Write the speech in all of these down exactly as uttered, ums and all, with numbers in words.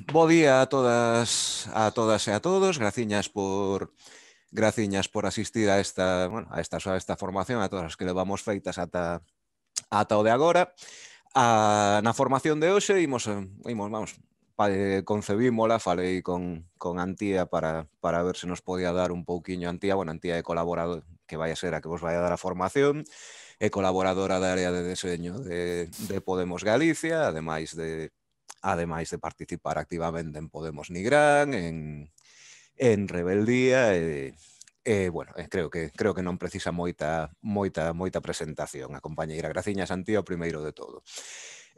Bo día a todas, a todas e a todos. Graciñas por graciñas por asistir a esta, bueno, a esta, a esta formación, a todas as que levamos feitas ata, ata o de agora. A, na formación de hoxe imos, eh, imos vamos, pa, eh, concebímola, falei con, con Antía para, para ver se nos podía dar un pouquiño. Antía, bueno, Antía é colaborador, que vai a ser a que vos vai a dar a formación, é colaboradora da área de deseño de, de Podemos Galicia, ademais de ademais de participar activamente en Podemos Nigrán, en, en Rebeldía, e, e bueno, eh, creo que creo que non precisa moita moita moita presentación a compañeira. Graciñas, Antía, o primeiro de todo.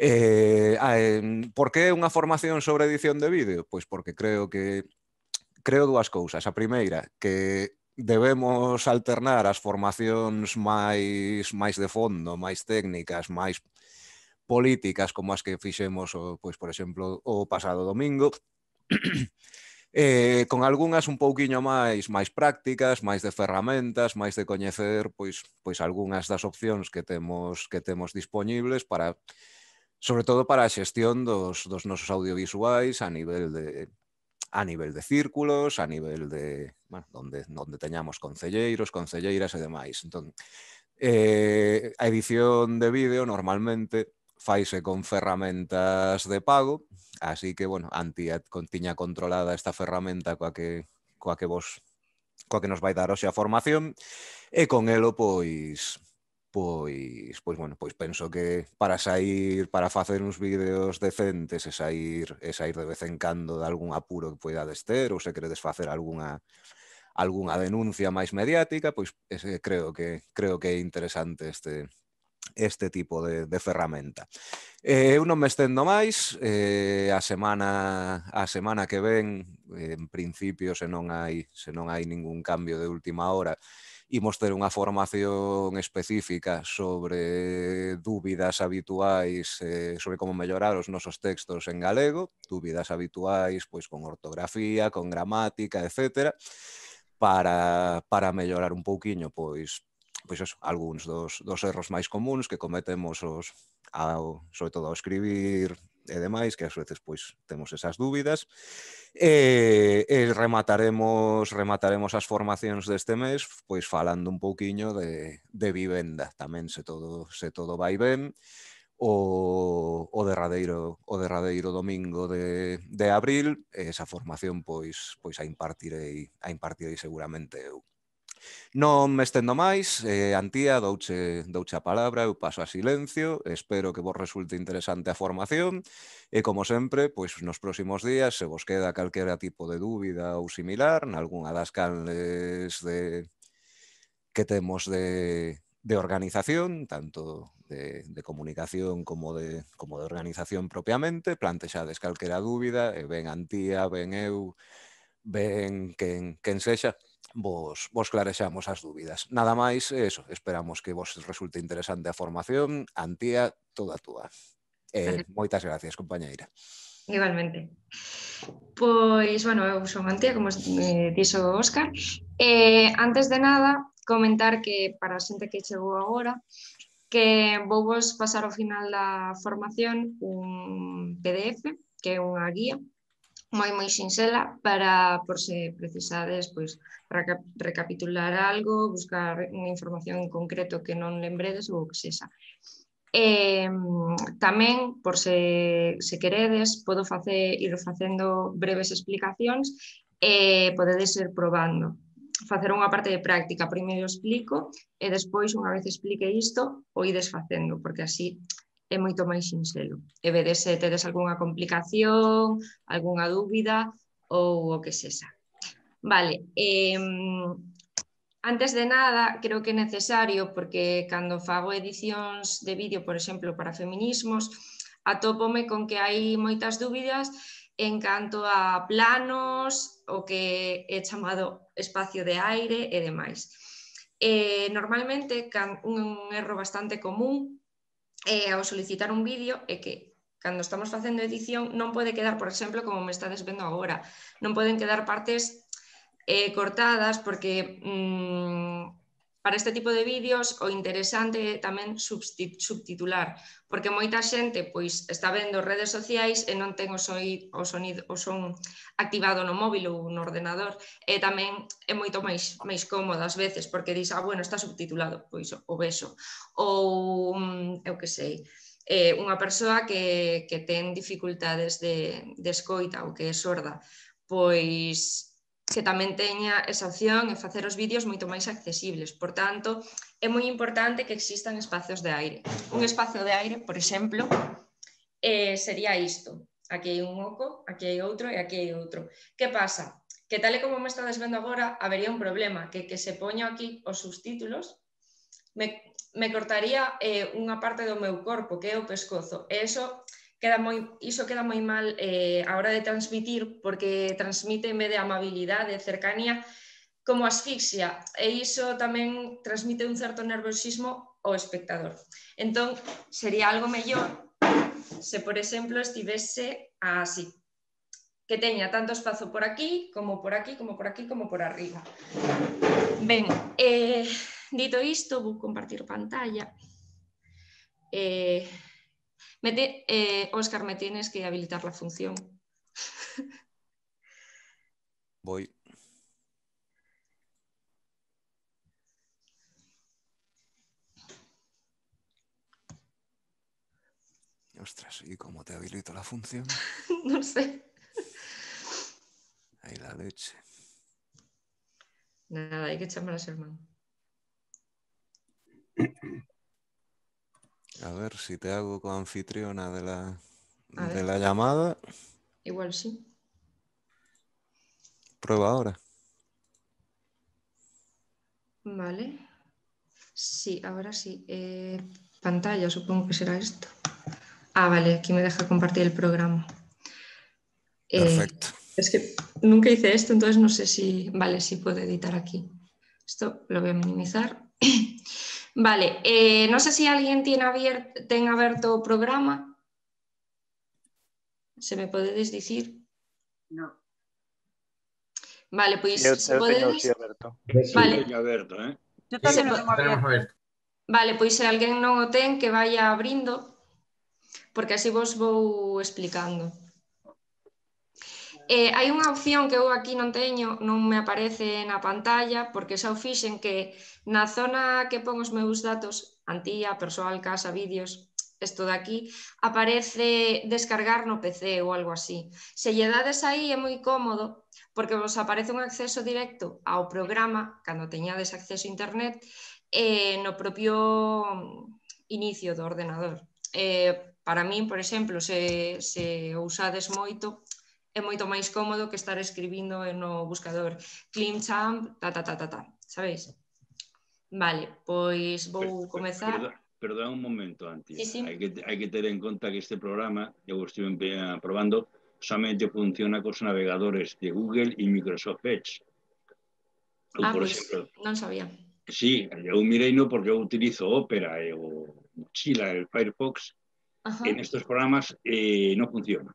Eh, eh, por que unha formación sobre edición de vídeo? Pois porque creo que creo dúas cousas. A primeira, que debemos alternar as formacións máis máis de fondo, máis técnicas, máis políticas, como as que fixemos, o, pois, por exemplo, o pasado domingo, eh, con algunhas un pouquiño máis máis prácticas, máis de ferramentas, máis de coñecer pois pois algunhas das opcións que temos que temos dispoñibles para, sobre todo para a xestión dos dos nosos audiovisuais a nivel de a nivel de círculos, a nivel de, bueno, donde donde teñamos concelleiros, concelleiras e demais. Entón, eh, a edición de vídeo normalmente faise con ferramentas de pago, así que, bueno, Antía tiña controlada esta ferramenta coa que, coa que vos coa que nos vai dar hoxe a formación, e con elo, pois, pois, pois, bueno, pois penso que para sair, para facer uns vídeos decentes e sair, e sair de vez en cando de algún apuro que poidades ter, ou se queredes facer algunha algunha denuncia máis mediática, pois ese, creo que creo que é interesante este este tipo de, de ferramenta. Eh, eu non me estendo máis, eh, a semana a semana que ven, eh, en principio, se non hai se non hai ningún cambio de última hora, imos ter unha formación específica sobre dúbidas habituais, eh, sobre como mellorar os nosos textos en galego, dúbidas habituais pois con ortografía, con gramática, etcétera, para, para mellorar un pouquiño pois pois eso, algúns dos, dos erros máis comuns que cometemos os, ao, sobre todo ao escribir e demais, que ás veces pois temos esas dúbidas. E, e remataremos remataremos as formacións deste mes pois falando un pouquiño de, de vivenda tamén, se todo se todo vai ben. O, o derradeiro o derradeiro domingo de, de abril, esa formación pois pois a impartirei a impartirei seguramente eu. Non me estendo máis, eh, Antía, douche, douche a palabra, eu paso a silencio, espero que vos resulte interesante a formación e, como sempre, pois nos próximos días, se vos queda calquera tipo de dúbida ou similar, nalgúna das canles de, que temos de, de organización, tanto de, de comunicación como de, como de organización propiamente, plantexades calquera dúbida, e ben Antía, ben eu, ben quen, quen sexa, vos, vos clarexamos as dúbidas. Nada máis, eso, esperamos que vos resulte interesante a formación. Antía, toda túa. Eh, moitas gracias, compañeira. Igualmente. Pois, bueno, eu son Antía, como eh, dixo Óscar. Eh, antes de nada, comentar que para a xente que chegou agora, que vou vos pasar ao final da formación un P D F, que é unha guía moi moi sinxela para, por se precisades, pois, para recapitular algo, buscar unha información en concreto que non lembredes ou o que sexa. Eh, tamén, por se, se queredes, podo facer, ir facendo breves explicacións e podedes ir probando. Facer unha parte de práctica, primeiro explico e despois, unha vez explique isto, o ides facendo, porque así é moito máis sinxelo. E vedes se tedes algunha complicación, algunha dúbida ou o que sexa. Vale, eh, antes de nada, creo que é necesario, porque cando fago edicións de vídeo, por exemplo, para feminismos, atópome con que hai moitas dúbidas en canto a planos, o que é chamado espacio de aire e demais. Eh, normalmente, un erro bastante común eh, ao solicitar un vídeo é que cando estamos facendo edición non pode quedar, por exemplo, como me estades vendo agora, non poden quedar partes eh, cortadas porque mmm, para este tipo de vídeos o interesante é tamén subtitular, porque moita xente pois está vendo redes sociais e non ten o, soi, o, sonido, o son activado no móvil ou no ordenador, e tamén é moito máis, máis cómodo ás veces, porque dis, ah, bueno, está subtitulado, pois o vexo. Ou, eu que sei, eh, unha persoa que, que ten dificultades de, de escoita ou que é sorda, pois que tamén teña esa opción e facer os vídeos moito máis accesibles. Por tanto, é moi importante que existan espacios de aire. Un espacio de aire, por exemplo, eh, sería isto. Aquí hai un oco, aquí hai outro e aquí hai outro. Que pasa? Que tal e como me estades vendo agora, habería un problema, que que se poño aquí os subtítulos, me, me cortaría eh, unha parte do meu corpo, que é o pescozo. E eso... Queda moi, iso queda moi mal eh, a hora de transmitir, porque transmite en vez de amabilidade, cercanía, como asfixia, e iso tamén transmite un certo nerviosismo ao espectador. Entón, sería algo mellor se, por exemplo, estivese así, que teña tanto espazo por aquí, como por aquí, como por aquí, como por arriba. Ben, eh, dito isto, vou compartir pantalla. Eh... Me te, eh, Óscar, me tienes que habilitar la función. Voy. Ostras, ¿y cómo te habilito la función? No sé. Ahí la leche. Nada, hay que echarme a hermano. A ver si te hago coanfitriona de la, A de ver. la llamada. Igual sí. Prueba ahora. Vale. Sí, ahora sí. Eh, pantalla, supongo que será esto. Ah, vale, aquí me deja compartir el programa. Perfecto. Eh, es que nunca hice esto, entonces no sé si... Vale, sí puedo editar aquí. Esto lo voy a minimizar. Vale, eh, no sé si alguien tiene abierto, ten abierto o programa. Se me podedes dicir? No. Vale, pois Sí, eu, se eu teño podedes... sí aberto. Vale. Teño aberto, eh? Yo tamén Se lo po- tengo abierto. abierto. Vale, pois se alguén non o ten, que vaya abrindo, porque así vos vou explicando. Eh, hai unha opción que eu aquí non teño, non me aparece na pantalla, porque xa o fixen que na zona que pon os meus datos, Antía, persoal, casa, vídeos, isto de aquí, aparece descargar no P C ou algo así. Se lle dades aí é moi cómodo, porque vos aparece un acceso directo ao programa, cando teñades acceso a internet, eh, no propio inicio do ordenador. Eh, para min, por exemplo, se, se o usades moito, é moito máis cómodo que estar escribindo no buscador Climchamp, ta, ta, ta, ta, ta, sabéis? Vale, pois vou comezar. Perdón, perdón un momento, Antía. Sí, sí. Hai que, hai que ter en conta que este programa, eu estive probando, solamente funciona cos navegadores de Google e Microsoft Edge. Ou, Ah, por pois exemplo, non sabía. sí, eu mirei no porque eu utilizo Opera e o Mozilla, el Firefox, Ajá. en estos programas eh, non funciona.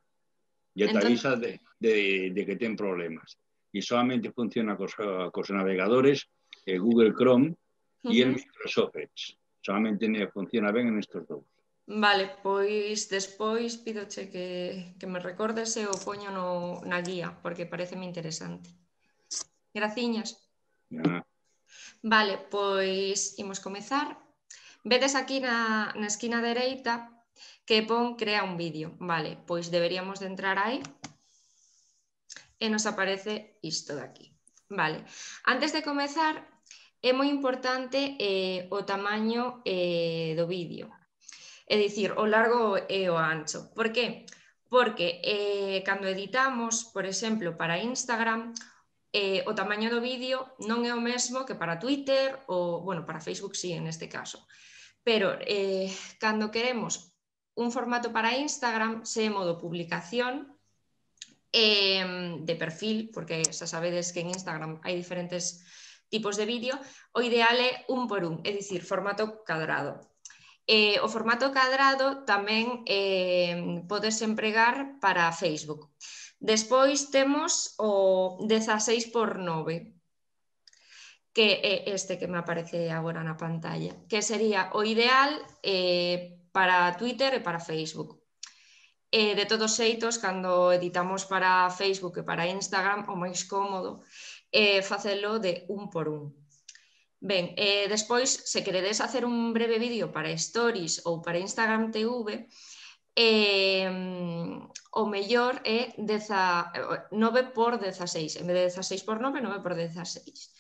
Ya te Entón- avisa de, de, de que ten problemas. E solamente funciona cos, cos navegadores eh, Google Chrome e el Ujú. Microsoft Edge. Solamente ne funciona ben en estos dous. Vale, pois despois pidoche que, que me recordes e o poño no, na guía, porque pareceme interesante. Graciñas. Ah, Vale, pois imos comezar. Vedes aquí na, na esquina dereita que pon crea un vídeo. Vale, pois deberíamos de entrar aí e nos aparece isto de aquí. Vale, antes de comezar é moi importante eh, o tamaño eh, do vídeo. É dicir, o largo e o ancho. Por que? Porque eh, cando editamos, por exemplo, para Instagram, eh, o tamaño do vídeo non é o mesmo que para Twitter ou, bueno, para Facebook sí, en este caso. Pero eh, cando queremos un formato para Instagram, se é modo publicación, eh, de perfil, porque xa sabedes que en Instagram hai diferentes tipos de vídeo, o ideal é un por un, é dicir, formato cadrado. Eh, o formato cadrado tamén eh, podes empregar para Facebook. Despois temos o dezaseis por nove. que é este que me aparece agora na pantalla, que sería o ideal eh, para Twitter e para Facebook. E de todos xeitos, cando editamos para Facebook e para Instagram, o máis cómodo é facelo de un por un. Ben, eh, despois, se queredes hacer un breve vídeo para Stories ou para Instagram T V, eh, o mellor é nove por dezaseis, en vez de dezaseis por nove, nove por dezaseis.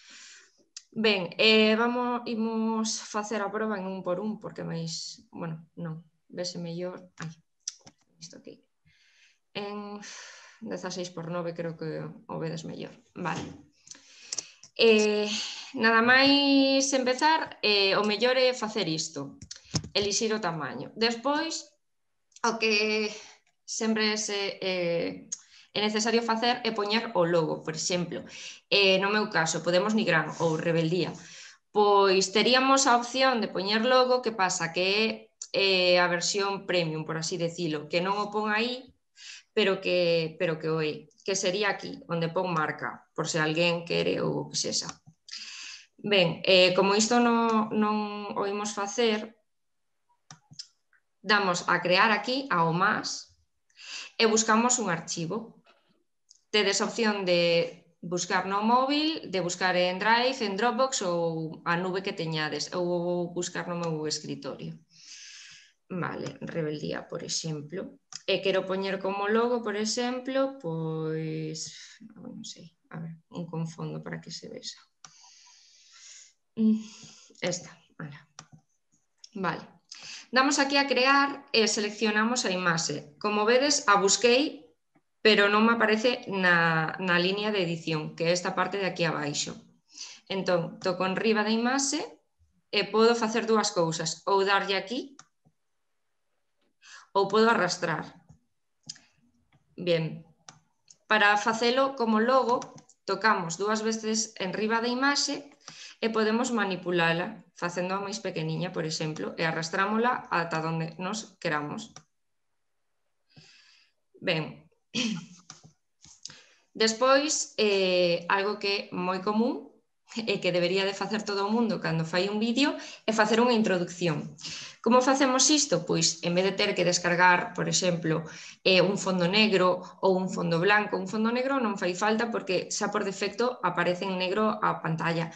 Ben, eh, vamos, imos facer a prova en un por un, porque máis, bueno, non, vese mellor, ai, isto aquí, en dezaseis por nove creo que o vedes mellor, vale. Eh, nada máis empezar, eh, o mellor é facer isto, elixir o tamaño. Despois, o que sempre se, eh, é necesario facer é poñer o logo, por exemplo. Eh, no meu caso, Podemos Nigrán ou Rebeldía. Pois teríamos a opción de poñer logo, que pasa que é eh, a versión premium, por así decirlo, que non o pon aí, pero que, pero que o é, que sería aquí, onde pon marca, por se alguén quere ou que sexa. Ben, eh, como isto non, non o imos facer, damos a crear aquí, ao más, e buscamos un archivo. Tedes a opción de buscar no móvil, de buscar en Drive, en Dropbox ou a nube que teñades, ou buscar no meu escritorio. Vale, Rebeldía, por exemplo. E quero poñer como logo, por exemplo, pois, non sei, a ver, un con fondo para que se vexa. Esta, vale. Vale. Damos aquí a crear e seleccionamos a imaxe. Como vedes, a busquei, pero non me aparece na, na línea de edición, que é esta parte de aquí abaixo. Entón, toco en riba da imaxe e podo facer dúas cousas, ou darlle aquí, ou podo arrastrar. Bien, para facelo como logo, tocamos dúas veces en riba da imaxe e podemos manipulala, facendo máis pequeniña, por exemplo, e arrastrámola ata onde nos queramos. Ben, despois, eh, algo que é moi común e que debería de facer todo o mundo cando fai un vídeo é facer unha introducción. Como facemos isto? Pois, en vez de ter que descargar, por exemplo, eh, un fondo negro ou un fondo blanco, un fondo negro non fai falta porque xa por defecto aparece en negro a pantalla.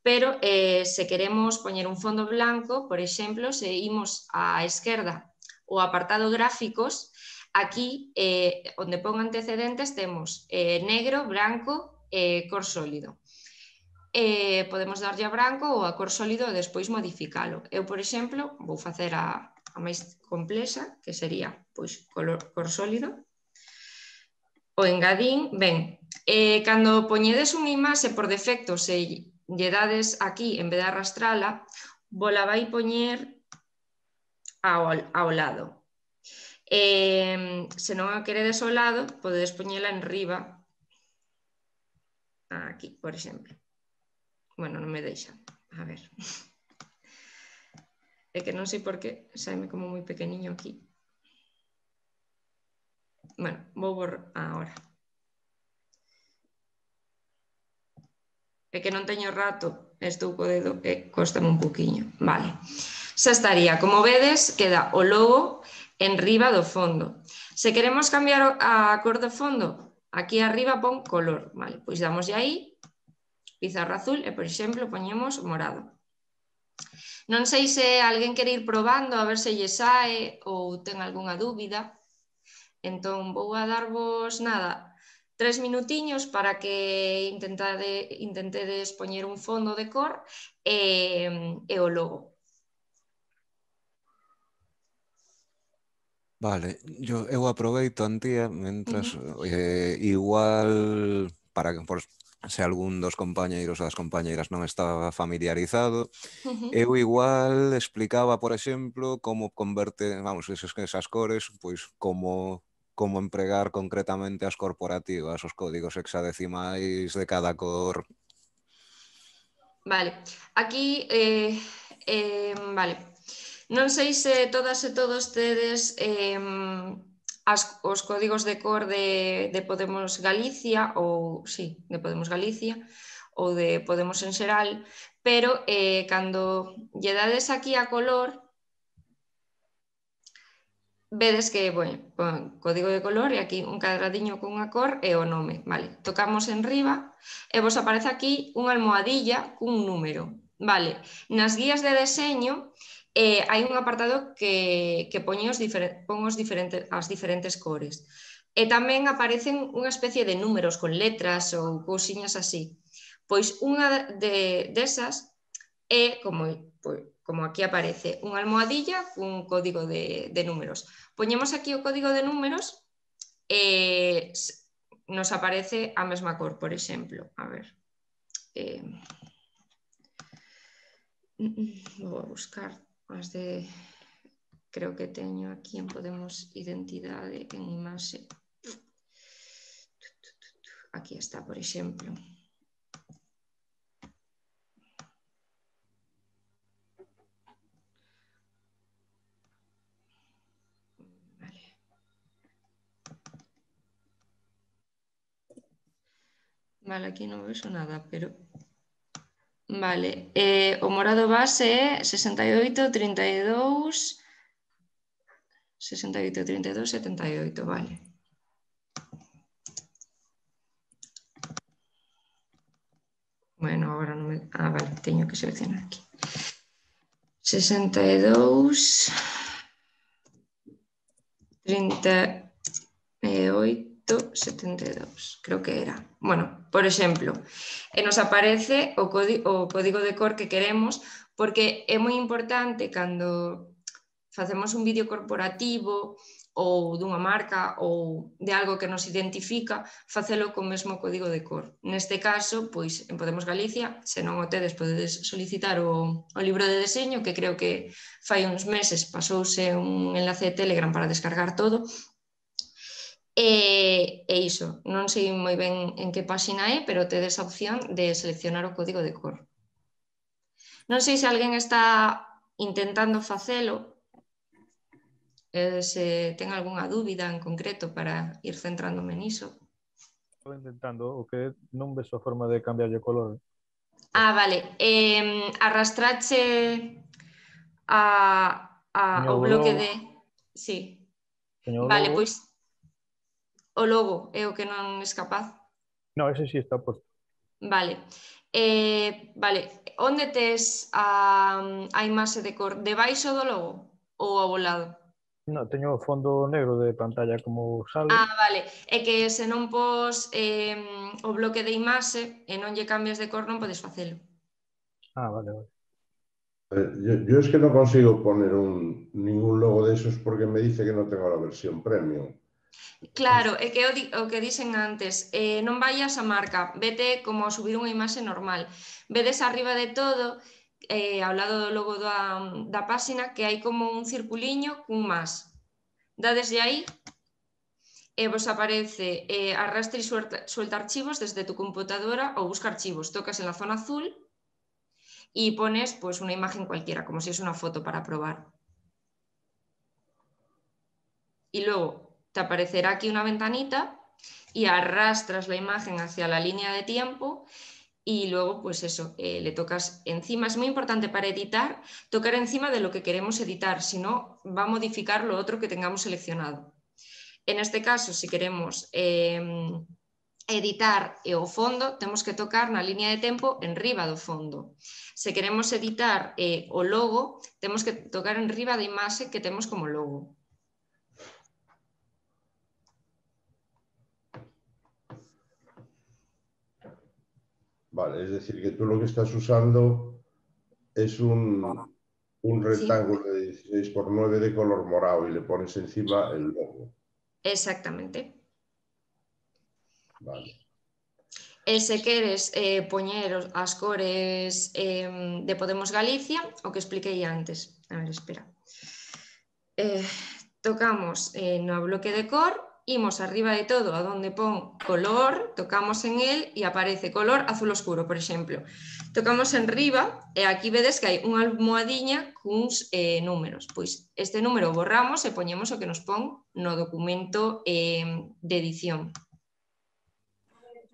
Pero eh, se queremos poñer un fondo blanco, por exemplo, se imos á esquerda o apartado gráficos, aquí, eh, onde pon antecedentes, temos eh, negro, branco e eh, cor sólido. Eh, podemos darlle a branco ou a cor sólido e despois modificalo. Eu, por exemplo, vou facer a, a máis complexa, que sería pois, color, cor sólido. O engadín, ben, eh, cando poñedes unha imaxe por defecto, se lle dades aquí, en vez de arrastrala, vola vai poñer ao, ao lado. Eh, se non a queredes ao lado, podedes poñela en riba, aquí, por exemplo. Bueno, non me deixa. A ver. É que non sei por que saime como moi pequeniño aquí. Bueno, vou borrar ahora. É que non teño rato, estou co dedo e cóstame un poquinho. Vale. Xa estaría. Como vedes, queda o logo en riba do fondo. Se queremos cambiar a cor do fondo, aquí arriba pon color. Vale, pois damos aí pizarra azul e, por exemplo, poñemos morado. Non sei se alguén quere ir probando a ver se lle sae ou ten algunha dúbida. Entón, vou a darvos, nada, tres minutiños para que intentade, intentedes poñer un fondo de cor e, e o logo. Vale, yo, eu aproveito, Antía, mentras uh-huh. eh, igual para que por se algún dos compañeiros ou das compañeiras non estaba familiarizado, uh-huh. eu igual explicaba, por exemplo, como converte, vamos, esas, esas cores, pois como como empregar concretamente as corporativas, os códigos hexadecimais de cada cor. Vale, aquí eh, eh, vale. Non sei se todas e todos tedes eh, as, os códigos de cor de, de Podemos Galicia ou, sí, de Podemos Galicia ou de Podemos en xeral, pero eh, cando lle dades aquí a color, vedes que, bueno, pon código de color e aquí un cadradiño con unha cor e o nome, vale, tocamos en riba e vos aparece aquí unha almohadilla cun número, vale, nas guías de deseño eh, hai un apartado que, que pon, os diferen, pon os diferentes, as diferentes cores e tamén aparecen unha especie de números con letras ou cousiñas así, pois unha de, desas é como, pois, como aquí aparece, unha almohadilla cun código de, de números. Poñemos aquí o código de números e nos aparece a mesma cor, por exemplo. A ver. Eh, vou a buscar as de... Creo que teño aquí en Podemos Identidade en imaxe. Aquí está, por exemplo. Vale, aquí non vexo nada, pero... Vale, eh, o morado base é sesenta e oito, trinta e dous... sesenta e oito, trinta e dous, setenta e oito, vale. Bueno, agora non me... Ah, vale, teño que seleccionar aquí. sesenta e dous... trinta e oito, setenta e dous, creo que era. Bueno, por exemplo, e nos aparece o código, o código de cor que queremos, porque é moi importante cando facemos un vídeo corporativo ou dunha marca ou de algo que nos identifica, facelo co mesmo código de cor. Neste caso, pois, en Podemos Galicia, se non o tedes, podedes solicitar o, o libro de deseño, que creo que fai uns meses pasouse un enlace de Telegram para descargar todo. E, e iso, non sei moi ben en que páxina é, pero tedes a opción de seleccionar o código de cor. Non sei se alguén está intentando facelo, eh, se ten algunha dúbida en concreto para ir centrándome niso. Estou intentando, o que non ves a forma de cambiar o color. Ah, vale, eh, arrastrache a, a, ao bloque de... Sí, vale, pois o logo é o que non es capaz. No, ese sí está posto. Vale, eh, vale, onde tes a, a imaxe de cor? Debaixo do logo ou ao lado? No, teño o fondo negro de pantalla como sale. Ah, vale, é que se non pos eh, o bloque de imaxe e non lle cambias de cor non podes facelo. Ah, vale, vale. Yo, yo es que no consigo poner un, ningún logo de esos porque me dice que no tengo la versión premium. Claro, é que o, di, o que dixen antes, eh, non vayas a marca, vete como a subir unha imaxe normal. Vedes arriba de todo, eh, ao lado do logo da, da páxina, que hai como un circuliño cun más. Dadeslle aí e vos aparece eh, arrastre e suelta, suelta archivos desde tu computadora ou busca archivos. Tocas en la zona azul y pones pues una imagen cualquiera, como si es una foto para probar. Y luego te aparecerá aquí una ventanita y arrastras la imagen hacia la línea de tiempo y luego pues eso, eh, le tocas encima. Es muy importante para editar, tocar encima de lo que queremos editar, si no va a modificar lo otro que tengamos seleccionado. En este caso, si queremos eh, editar o fondo, temos que tocar na línea de tempo en riba do fondo. Se queremos editar eh, o logo, temos que tocar en riba da imaxe que temos como logo. Vale, es decir, que tú lo que estás usando es un, un rectángulo sí. de dieciséis por nueve de color morado y le pones encima el logo. Exactamente. Vale. E se queres eh, poñer as cores eh, de Podemos Galicia, o que expliquei antes. A ver, espera. Eh, tocamos eh, no bloque de cor, imos arriba de todo a donde pon color, tocamos en él e aparece color azul oscuro, por exemplo. Tocamos en riba e aquí vedes que hai unha almohadiña cuns eh, números. Pois este número borramos e poñemos o que nos pon no documento eh, de edición.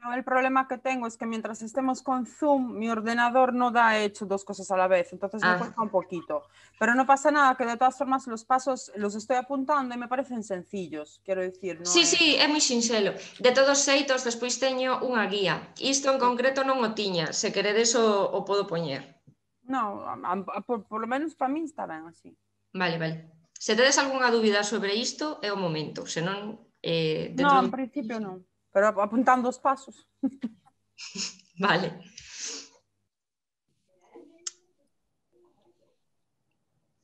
Yo el problema que tengo es que mientras estemos con Zoom, mi ordenador no da hecho dos cosas a la vez, entonces Ah. me cuesta un poquito. Pero no pasa nada, que de todas formas los pasos los estoy apuntando y me parecen sencillos, quiero decir. No Sí, es... sí, é moi sinxelo. De todos xeitos, despois teño unha guía. Isto en concreto non o tiña, se queredes o, o podo poñer. No, a, a, por, por lo menos para mí está ben así. Vale, vale. Se tedes algunha dúbida sobre isto, é o momento, senón... Eh, No, dentro en de... principio non, pero apuntando os pasos. Vale.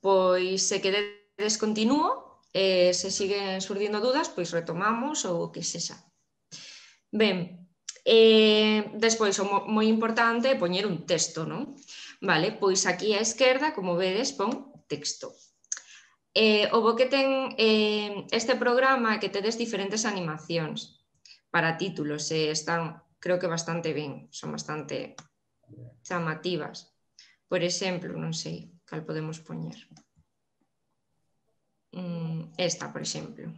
Pois se queredes continúo, eh, se siguen surdindo dudas, pois retomamos ou o que sexa. Ben, eh, despois o mo, moi importante é poñer un texto, non? Vale, pois aquí á esquerda, como vedes, pon texto. Eh, o bo que ten eh, este programa é que tedes diferentes animacións para títulos, e están, creo que bastante ben, son bastante chamativas. Por exemplo, non sei cal podemos poñer. Esta, por exemplo.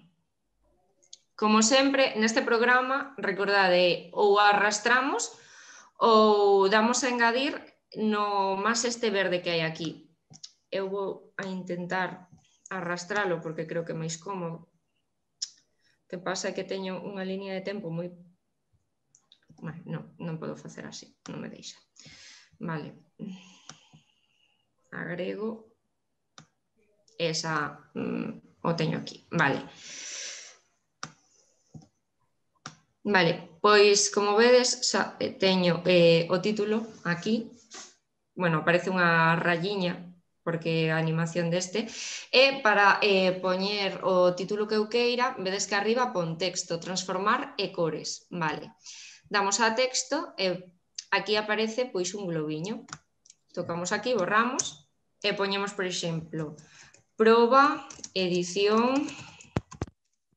Como sempre, neste programa, recordade, ou arrastramos ou damos a engadir no máis este verde que hai aquí. Eu vou a intentar arrastralo porque creo que é máis cómodo. O que pasa é que teño unha línea de tempo moi... Bueno, non, non podo facer así, non me deixa. Vale. Agrego. Esa mm, o teño aquí. Vale. Vale, pois como vedes xa teño eh, o título aquí. Bueno, aparece unha rayiña porque a animación deste e para eh, poñer o título que eu queira, vedes que arriba pon texto, transformar e cores. Vale. Damos a texto e aquí aparece pois un globiño. Tocamos aquí, borramos e poñemos, por exemplo, proba edición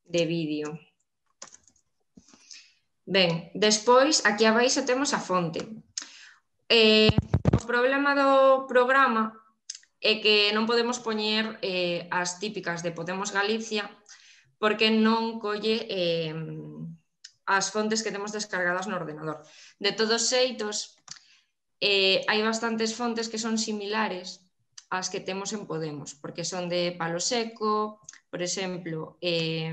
de vídeo. Ben, despois, aquí abaixo temos a fonte. Eh, o problema do programa é que non podemos poñer eh, as típicas de Podemos Galicia porque non colle eh, as fontes que temos descargadas no ordenador. De todos xeitos, eh, hai bastantes fontes que son similares as que temos en Podemos, porque son de Palo Seco, por exemplo, eh,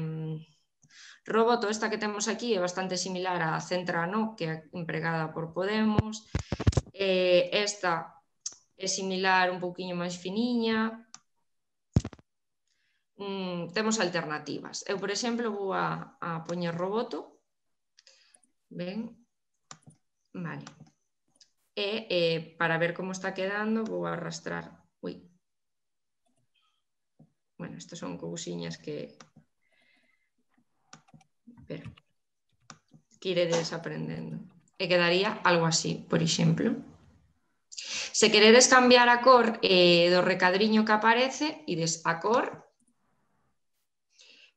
Roboto, esta que temos aquí, é bastante similar a Centrano, que é empregada por Podemos, eh, esta é similar, un pouquiño máis finiña, mm, temos alternativas. Eu, por exemplo, vou a, a poñer Roboto, ben, vale, e eh, para ver como está quedando vou a arrastrar. Ui. Bueno, estas son cousiñas que... Pero, que iredes aprendendo. E quedaría algo así, por exemplo. Se queredes cambiar a cor eh, do recadriño que aparece, ides a cor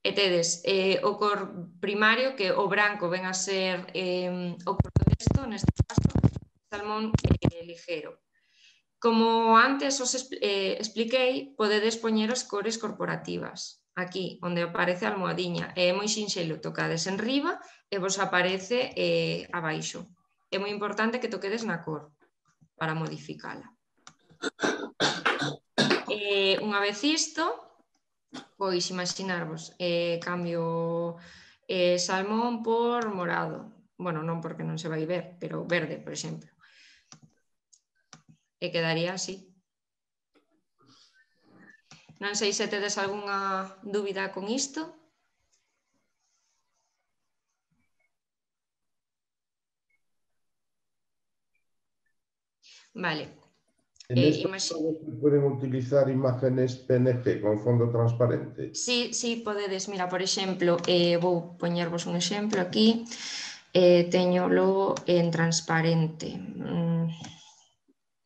e tedes eh, o cor primario, que o branco ven a ser eh, o cor do texto, neste caso, salmón eh, ligero. Como antes os eh, expliquei, podedes poñer as cores corporativas aquí, onde aparece a almohadiña. É moi sinxelo, tocades en riba e vos aparece eh, abaixo. É moi importante que toquedes na cor para modificala. Eh, unha vez isto, pois imaginarvos, eh, cambio eh, salmón por morado. Bueno, non porque non se vai ver, pero verde, por exemplo. E quedaría así. Non sei se tedes algunha dúbida con isto. Vale. En Eh, esta imagi... se pueden utilizar imágenes P N G con fondo transparente. Sí, sí, podedes. Mira, por exemplo, eh, vou poñervos un exemplo aquí. Eh, teño logo en transparente. Mm,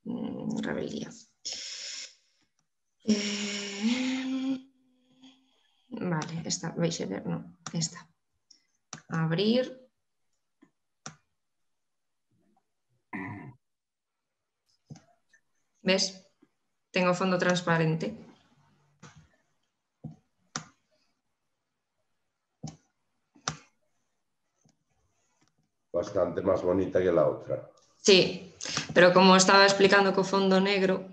mm, rebeldía. Eh, vale, esta, vais a ver, non, esta. Abrir. Ves? Tengo fondo transparente. bastante más bonita que la otra. Sí, pero como estaba explicando co fondo negro,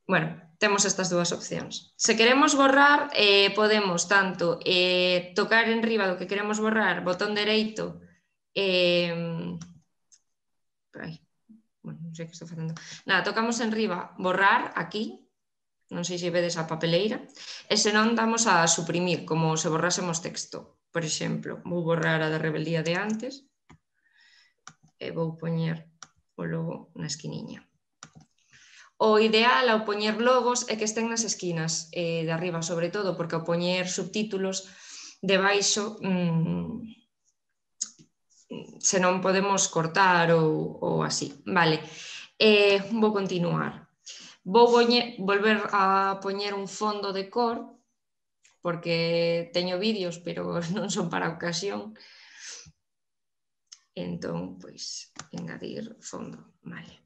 bueno, temos estas dúas opcións. Se queremos borrar, eh, podemos tanto eh, tocar en riba do que queremos borrar, botón dereito, eh, ay, bueno, non sei que estou facendo. Nada, tocamos en riba, borrar, aquí, non sei se vedes a papeleira, e senón damos a suprimir, como se borrásemos texto. Por exemplo, vou borrar a da rebeldía de antes e vou poñer o logo na esquiniña. O ideal ao poñer logos é que estén nas esquinas eh, de arriba, sobre todo, porque ao poñer subtítulos debaixo mmm, se non podemos cortar ou, ou así. Vale, eh, vou continuar. Vou poñer, volver a poñer un fondo de cor, porque teño vídeos, pero non son para a ocasión. Entón, pois, engadir fondo. Vale.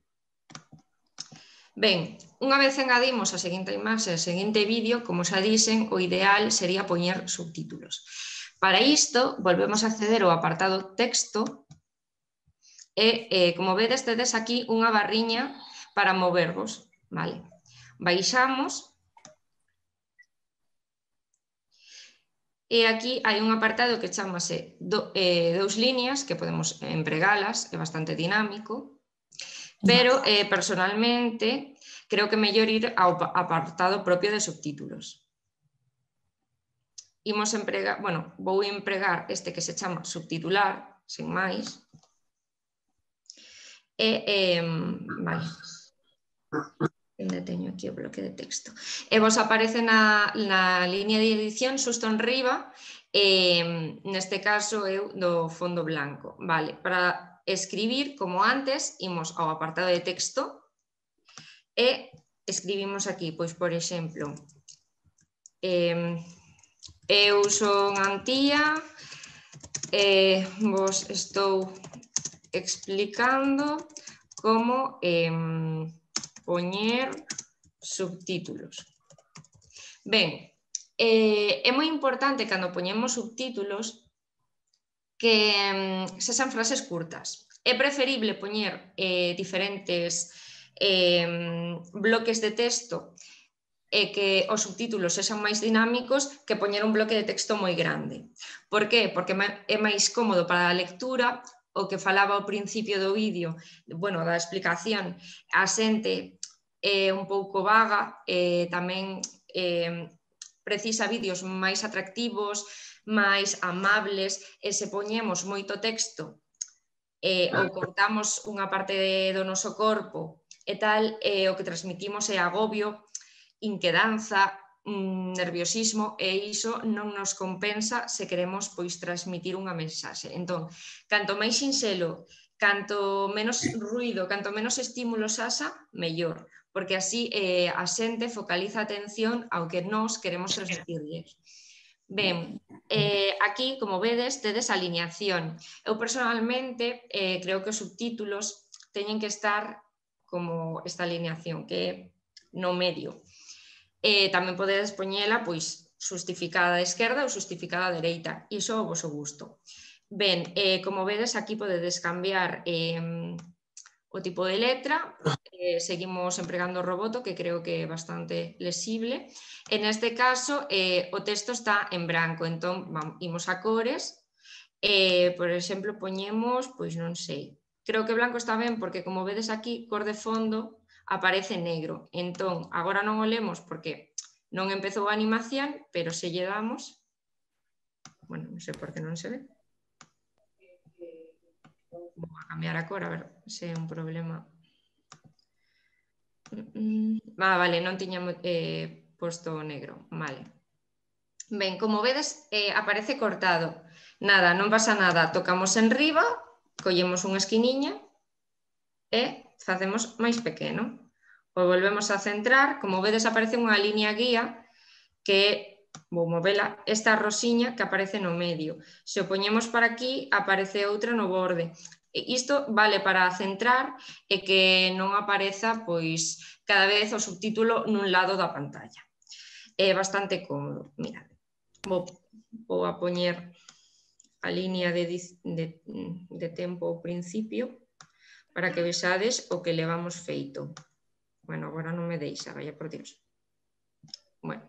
Ben, unha vez engadimos a seguinte imaxe, a seguinte vídeo, como xa dixen, o ideal sería poñer subtítulos. Para isto, volvemos a acceder ao apartado texto e, eh, como vedes, tedes aquí unha barriña para movervos. Vale. Baixamos e aquí hai un apartado que chamase do, eh, dous líneas, que podemos empregalas, é bastante dinámico. Pero, eh, personalmente, creo que é mellor ir ao apartado propio de subtítulos. Imos empregar, bueno, vou empregar este que se chama subtitular, sen máis. E, eh, vale. Onde teño aquí o bloque de texto. E vos aparece na, na línea de edición, xusto en riba, eh, neste caso eu do fondo blanco. Vale, para escribir, como antes, imos ao apartado de texto e escribimos aquí, pois, por exemplo, eh, eu son Antía e vos estou explicando como eh, poñer subtítulos. Ben, eh, é moi importante cando poñemos subtítulos que sexan frases curtas. É preferible poñer eh, diferentes eh, bloques de texto e que os subtítulos sexan máis dinámicos que poñer un bloque de texto moi grande. Por qué? Porque é máis cómodo para a lectura, o que falaba ao principio do vídeo, bueno, da explicación, a xente é un pouco vaga, e tamén eh, precisa vídeos máis atractivos, máis amables, e se poñemos moito texto eh, ou cortamos unha parte de, do noso corpo e tal, eh, o que transmitimos é agobio, inquedanza, mm, nerviosismo, e iso non nos compensa se queremos pois transmitir unha mensaxe. Entón, canto máis sinxelo, canto menos ruido, canto menos estímulos haxa, mellor, porque así eh, a xente focaliza a atención ao que nós queremos transmitirles. Ben, eh, aquí, como vedes, tedes a alineación. Eu, personalmente, eh, creo que os subtítulos teñen que estar como esta alineación, que é no medio. Eh, tamén podedes poñela, pois, justificada a esquerda ou justificada a dereita. Iso ao vosso gusto. Ben, eh, como vedes, aquí podedes cambiar eh, o tipo de letra, eh, seguimos empregando o roboto, que creo que é bastante lesible. En este caso, eh, o texto está en branco, entón vamos, imos a cores, eh, por exemplo, poñemos, pois non sei, creo que blanco está ben, porque como vedes aquí, cor de fondo aparece negro, entón agora non o lemos porque non empezou a animación, pero se lle damos, bueno, non sei por que non se ve. Vou a cambiar a cor, a ver se é un problema. Ah, vale, non tiña eh, posto negro, vale. Ben, como vedes, eh, aparece cortado. Nada, non pasa nada, tocamos en riba, collemos unha esquiniña e facemos máis pequeno. O volvemos a centrar, como vedes aparece unha línea guía que, vou movela, esta rosiña que aparece no medio. Se o poñemos para aquí, aparece outra no borde. Isto vale para centrar e que non apareza pois cada vez o subtítulo nun lado da pantalla. É bastante cómodo. Mira, vou, vou a poñer a línea de, de, de tempo ao principio para que vexades o que levamos feito. Bueno, agora non me deixa, vaya por Dios. Bueno.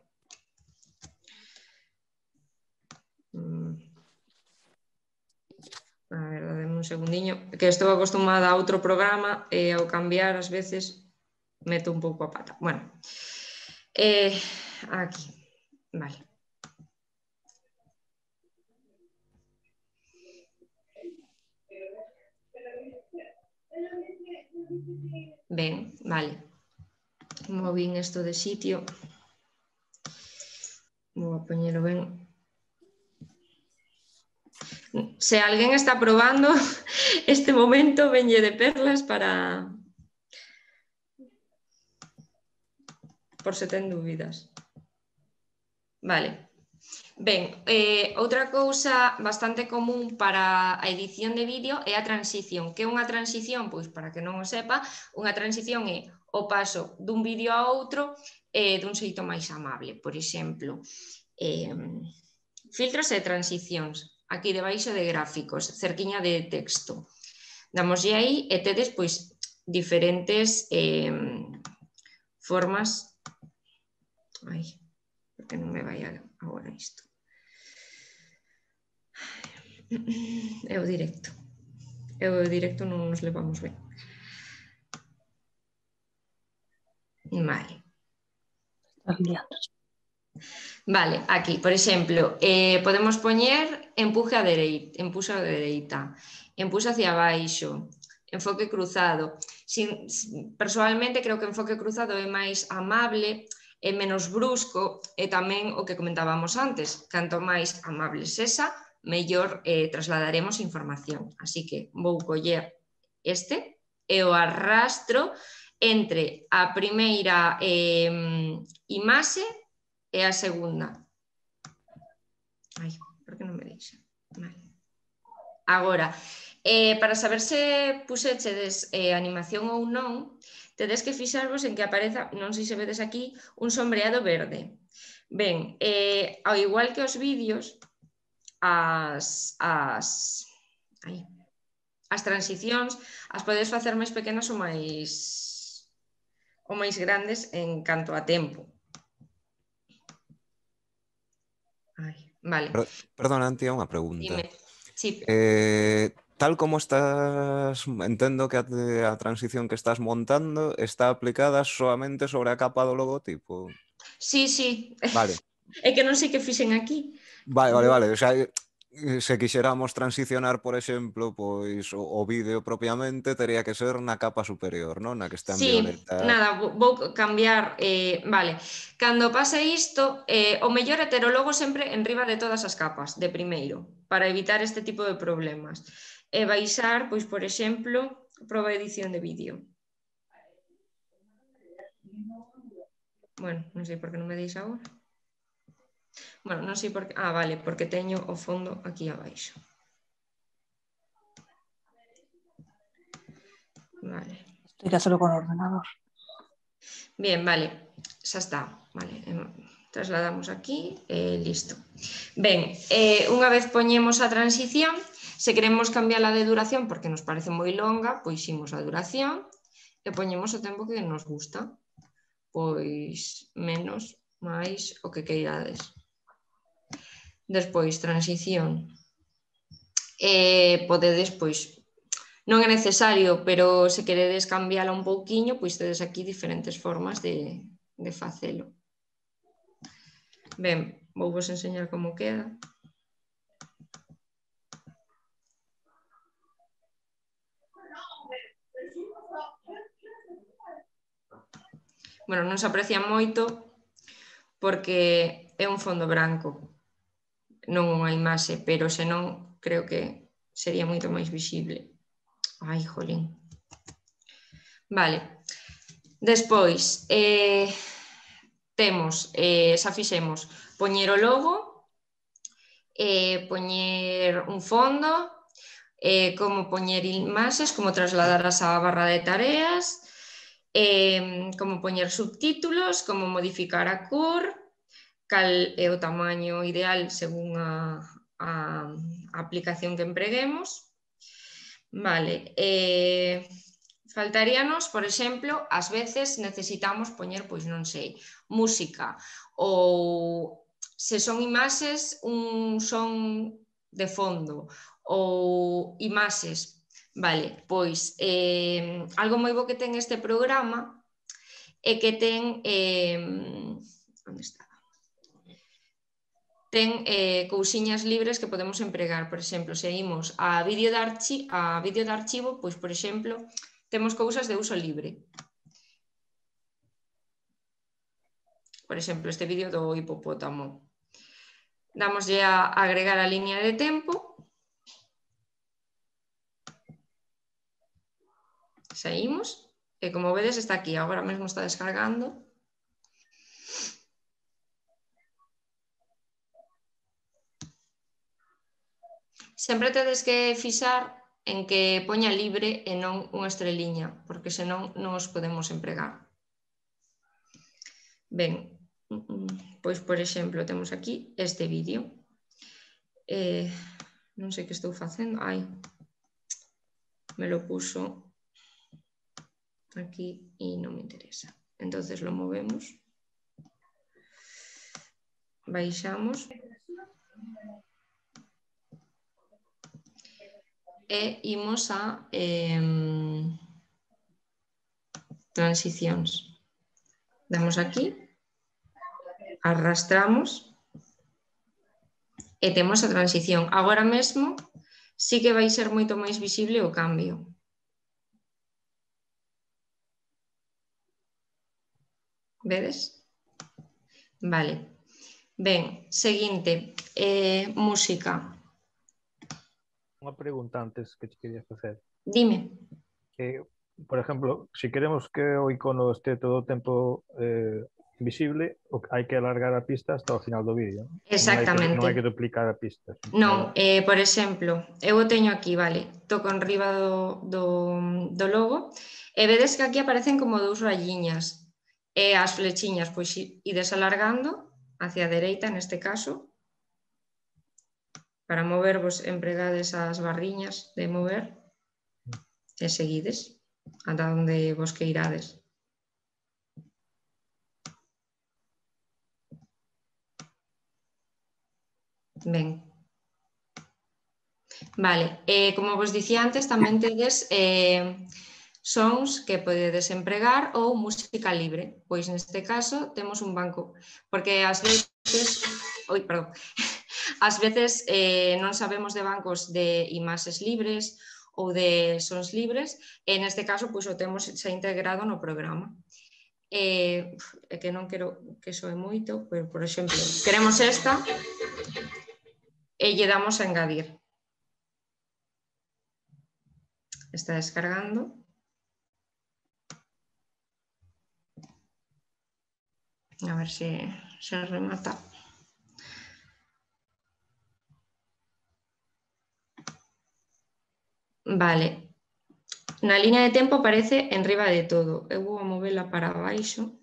A ver, dame un segundiño, que estou acostumada a outro programa e ao cambiar ás veces meto un pouco a pata. Bueno, eh, aquí, vale. Ben, vale. Movín isto de sitio. Vou a poñelo ben. Se alguén está probando este momento, venlle de perlas para... por se ten dúbidas. Vale. Ben, eh, outra cousa bastante común para a edición de vídeo é a transición. Que é unha transición? Pois, para que non o sepa, unha transición é o paso dun vídeo a outro eh, dun xeito máis amable. Por exemplo, eh, filtros e transicións. Aquí debaixo de gráficos, cerquiña de texto. Damoslle aí e tedes pois diferentes eh, formas. Ai, porque non me vai agora isto. É o directo. É o directo, non nos levamos ben. Vale. Estás liando. Vale, aquí, por exemplo, eh, podemos poñer empuje a dereita, empuxa a dereita, empuxa hacia abaixo, enfoque cruzado. Sin, personalmente creo que enfoque cruzado é máis amable, é menos brusco e tamén o que comentábamos antes, canto máis amable sexa, mellor eh, trasladaremos información. Así que vou coller este e o arrastro entre a primeira eh, imaxe e a segunda. Ai, por que non me deixa? Vale. Agora, eh, para saber se puxechedes eh, animación ou non, tedes que fixarvos en que apareza, non sei se vedes aquí, un sombreado verde. Ben, eh, ao igual que os vídeos, as, as, ai, as transicións as podes facer máis pequenas ou máis, ou máis grandes en canto a tempo. Ai, vale. Per perdona, Antía, unha pregunta. Dime. Sí. Eh, tal como estás, entendo que a, a transición que estás montando está aplicada solamente sobre a capa do logotipo. Sí, sí. Vale. É que non sei que fixen aquí. Vale, vale, vale. O sea, se quixéramos transicionar, por exemplo, pois o, o vídeo propiamente, tería que ser na capa superior, non? Na que está en Sí, violeta. nada, vou cambiar, eh, vale. Cando pase isto, eh, o mellor é ter o logo sempre en riba de todas as capas, de primeiro, para evitar este tipo de problemas. E baixar, pois, por exemplo, proba edición de vídeo. Bueno, non sei por que non me deixa agora. Bueno, non sei por que... Ah, vale, porque teño o fondo aquí abaixo. Vale. Esto irá solo con ordenador. Bien, vale, xa está. Vale, trasladamos aquí e listo. Ben, eh, unha vez poñemos a transición, se queremos cambiarla de duración porque nos parece moi longa, pois imos a duración e poñemos o tempo que nos gusta. Pois menos, máis, o que queirades. Despois, transición. Eh, podedes, pois, non é necesario, pero se queredes cambiala un pouquiño, pois tedes aquí diferentes formas de, de facelo. Ben, vou vos enseñar como queda. Bueno, non se aprecia moito porque é un fondo branco, non unha imaxe, pero senón creo que sería moito máis visible. Ai, jolín. Vale. Despois, eh, temos, eh, xa fixemos, poñer o logo, eh, poñer un fondo, eh, como poñer imaxes, como trasladarás á barra de tareas, eh, como poñer subtítulos, como modificar a cor, cal é o tamaño ideal según a, a, a aplicación que empreguemos. Vale, eh, faltaríanos, por exemplo, ás veces necesitamos poñer, pois non sei, música ou se son imaxes, un son de fondo ou imaxes. Vale, pois eh, algo moi bo que ten este programa é que ten eh, onde está? Ten eh, cousiñas libres que podemos empregar. Por exemplo, se imos a vídeo de, archi a vídeo de archivo, pois, por exemplo, temos cousas de uso libre. Por exemplo, este vídeo do hipopótamo. Damoslle a agregar a línea de tempo. Saímos. E como vedes está aquí, agora mesmo está descargando. Sempre tedes que fixar en que poña libre e non unha estreliña, porque senón non os podemos empregar. Ben, pois por exemplo temos aquí este vídeo. Eh, non sei que estou facendo. Ai, me lo puso aquí e non me interesa. Entonces lo movemos. Baixamos. E imos a eh, transicións. Damos aquí, arrastramos e temos a transición. Agora mesmo sí que vai ser moito máis visible o cambio. Vedes? Vale. Ben, seguinte, eh, música. Unha pregunta antes que te quería facer. Dime. Que, por exemplo, se queremos que o icono este todo o tempo eh, visible, hai que alargar a pista hasta o final do vídeo. Exactamente. Non hai que, non hai que duplicar a pista. Non, eh, por exemplo, eu o teño aquí, vale, toco en riba do, do, do logo e vedes que aquí aparecen como dous rayiñas e as flechiñas, pois ides alargando hacia a dereita neste caso. Para movervos empregades as barriñas de mover e seguides ata onde vos que irades. Ben. Vale, eh, como vos dicía antes, tamén tedes eh, sons que podedes empregar ou música libre. Pois neste caso temos un banco, porque ás veces... Oi, perdón. Ás veces eh, non sabemos de bancos de imaxes libres ou de sons libres e neste caso pois, o temos xa integrado no programa. É eh, que non quero que soe moito, pero, por exemplo, queremos esta e lle damos a engadir. Está descargando. A ver se se remata. Vale, na línea de tempo aparece en riba de todo. Eu vou a movela para baixo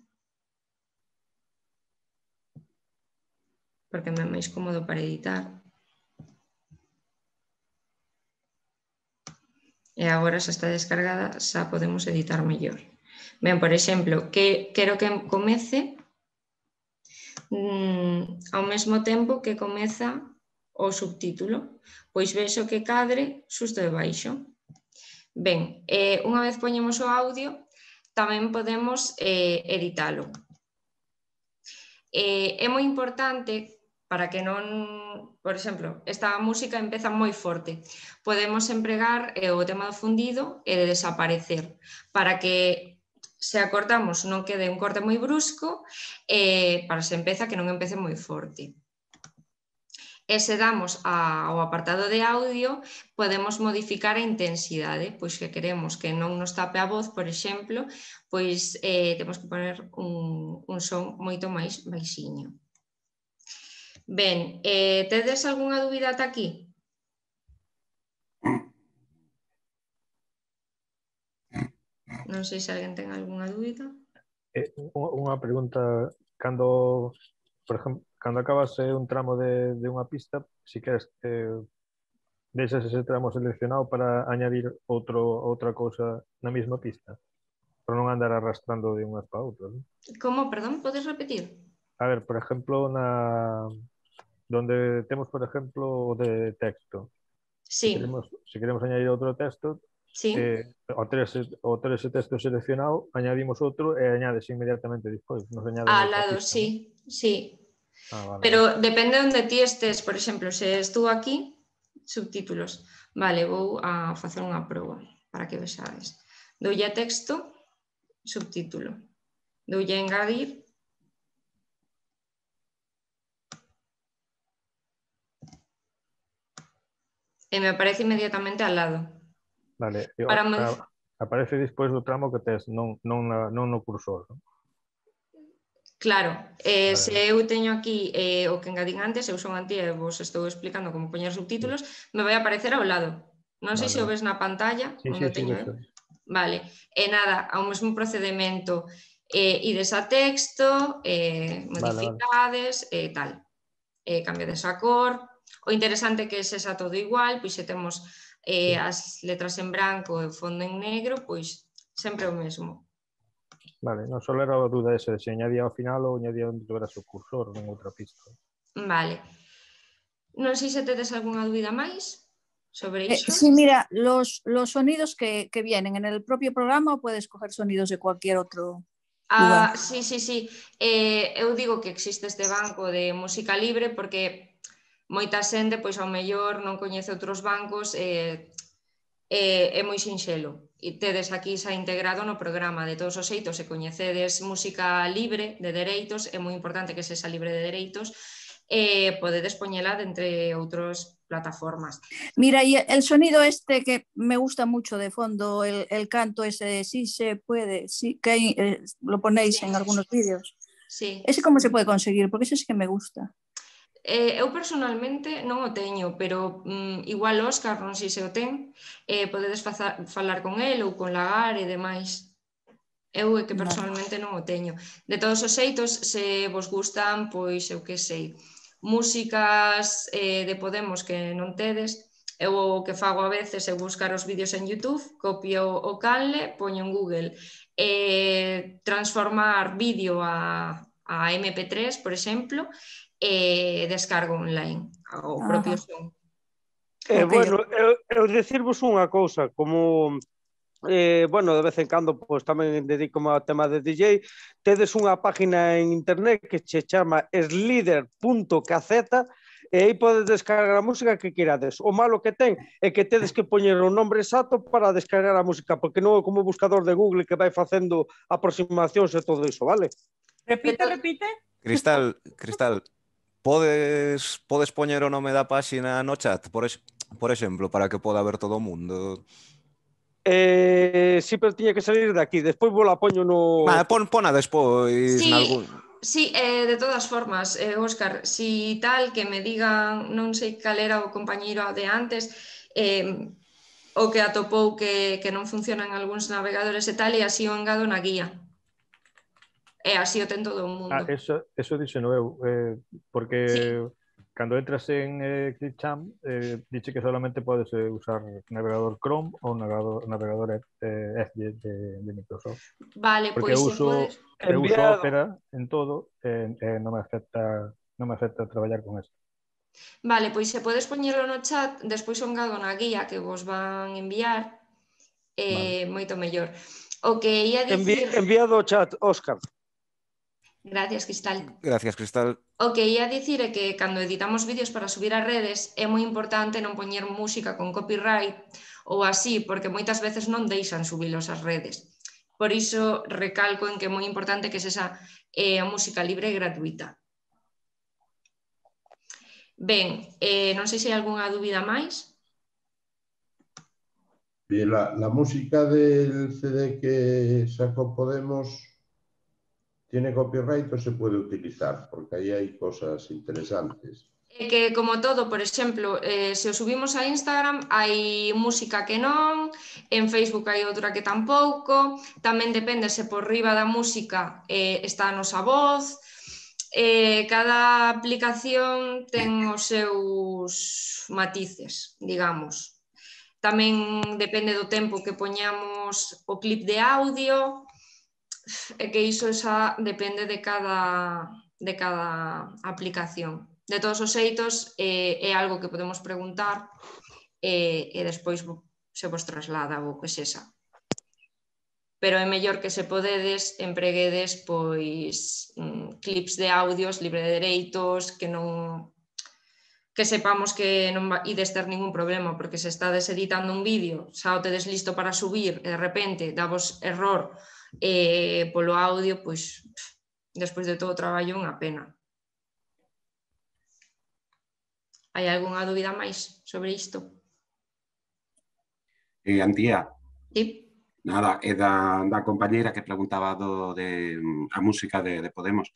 porque me é máis cómodo para editar. E agora xa está descargada, xa podemos editar mellor. Ben, por exemplo, que quero que comece mmm, ao mesmo tempo que comeza o subtítulo. Pois vexo que cadre xusto debaixo. Ben, eh, unha vez poñemos o audio, tamén podemos eh, editalo. Eh, é moi importante para que non, por exemplo, esta música empeza moi forte. Podemos empregar eh, o tema do fundido e de desaparecer, para que se acortamos non quede un corte moi brusco e para se empeza que non empece moi forte. E se damos ao apartado de audio, podemos modificar a intensidade, pois que queremos que non nos tape a voz, por exemplo, pois eh, temos que poner un, un son moito máis baixiño. Ben, eh, tedes algunha dúbida ata aquí? Non sei se alguén ten algunha dúbida. Eh, unha pregunta, cando por exemplo, cando acabas eh, un tramo de, de unha pista, si queres eh, deixas ese tramo seleccionado para añadir outro, outra cousa na mesma pista, para non andar arrastrando de unhas para outras. ¿No? Como, perdón, podes repetir? A ver, por exemplo, na donde temos, por exemplo, o de texto. Sí. Si queremos, si queremos añadir outro texto, Sí. eh, ao ter ese, ao ter ese texto seleccionado, añadimos outro e añades inmediatamente despois. Nos añade Al outra lado, pista, sí, ¿no? sí. Ah, vale, Pero vale. depende onde ti estés, por exemplo, se estou aquí, subtítulos. Vale, vou a facer unha proba para que vexades. Doulle a texto, subtítulo. Doulle a engadir. E me aparece inmediatamente al lado. Vale, e Para a, modif- aparece despois do tramo que tes, non, non, na, non no cursor, ¿no? Claro, eh, Vale. se eu teño aquí eh, o que engadín antes, eu son antía e vos estou explicando como poñer subtítulos, sí. Me vai aparecer ao lado. Non sei Vale, se o vale. ves na pantalla, Sí, onde sí, sí, teño vexo. eu. Vale, e nada, ao mesmo procedimento, eh, ides a texto, eh, modificades e eh, tal. Eh, cambiades a cor. O interesante é que sexa todo igual, pois se temos eh, sí. as letras en branco e o fondo en negro, pois sempre o mesmo. Vale, non só era a dúda ese, se añadía ao final ou añadía onde tuveras o cursor en outra pista. Vale. Non sei se tedes algunha dúbida máis sobre isto. Eh, sí, mira, los, los sonidos que, que vienen en el propio programa o puedes coger sonidos de cualquier otro lugar. Ah, sí, sí, sí. Eh, eu digo que existe este banco de música libre porque moita xente, pois ao mellor non coñece outros bancos e eh, é moi sinxelo. E tedes aquí xa integrado no programa. De todos os xeitos, se coñecedes música libre de dereitos, é moi importante que sexa libre de dereitos, eh, podedes poñela de entre outras plataformas. Mira, y el sonido este que me gusta mucho de fondo, el, el canto ese de sí se puede, sí, que eh, lo ponéis sí. en algunos vídeos. Sí. ¿Ese cómo se puede conseguir? Porque ese sí que me gusta. Eh, eu personalmente non o teño, pero mm, igual Óscar, non sei se o ten, eh, podedes faza, falar con el ou con Lagar e demais. Eu é que personalmente non o teño. De todos os xeitos, se vos gustan, pois eu que sei, músicas eh, de Podemos que non tedes, eu o que fago a veces é buscar os vídeos en YouTube, copio o canle, poño en Google, eh, transformar vídeo a, a eme pe tres, por exemplo, e descargo online o propio son. Eh, okay. Bueno, eu, eu decirvos unha cousa, como eh, bueno, de vez en cando pois, tamén dedico ao tema de D J, tedes unha página en internet que se chama slider punto k z e aí podes descargar a música que querades. O malo que ten é que tedes que poñer o nombre exacto para descargar a música, porque non é como o buscador de Google que vai facendo aproximacións e todo iso, vale? Repite, repite. Cristal, Cristal, podes podes poñer o nome da páxina no chat, por, ex, por exemplo, para que poda ver todo o mundo? Eh, sí, pero tiña que salir de aquí. Despois vou la poño no... Ah, pon, pona despois sí, nalgún... Sí, eh, de todas formas, eh, Óscar, si tal que me digan, non sei cal era o compañeiro de antes, eh, o que atopou que, que non funcionan algúns navegadores e tal, e así o engado na guía. E así o ten todo o mundo. Ah, eso, eso dixeno eu, eh, porque sí. Cando entras en eh, ClickChamp, eh, dice que solamente podes eh, usar navegador Chrome ou navegador, navegador eh, Edge de, de Microsoft. Vale, porque pois eu uso, podes... eu uso Opera en todo e eh, eh, non me afecta non me afecta traballar con esto. Vale, pois se podes poñerlo no chat, despois o engado na guía que vos van enviar, eh, vale. Moito mellor. O que ia dicir... Envi enviado o chat, Óscar. Gracias, Cristal. Gracias, Cristal. O que ia dicir é que cando editamos vídeos para subir a redes é moi importante non poñer música con copyright ou así, porque moitas veces non deixan subilos ás redes. Por iso recalco en que é moi importante que sexa eh, música libre e gratuita. Ben, eh, non sei se hai algunha dúbida máis. Bien, la, la música del ce de que sacó Podemos... ¿Tiene copyright o se puede utilizar? Porque ahí hay cosas interesantes. É que, como todo, por exemplo, eh, se o subimos a Instagram, hai música que non, en Facebook hai outra que tampouco, tamén depende se por riba da música eh, está a nosa voz, eh, cada aplicación ten os seus matices, digamos. Tamén depende do tempo que poñamos o clip de audio, e que iso xa depende de cada, de cada aplicación. De todos os xeitos, eh, é algo que podemos preguntar e, e despois se vos traslada o que sexa. Pero é mellor que se podedes empreguedes pois clips de audios libre de dereitos, que non que sepamos que non ides ter ningún problema, porque se estades editando un vídeo, xa o tedes listo para subir e de repente davos error eh, polo audio, pois despois de todo o traballo é unha pena. Hai algunha dúbida máis sobre isto? Eh, Antía. Sí. Nada, é da, da compañeira que preguntaba do, de a música de, de Podemos.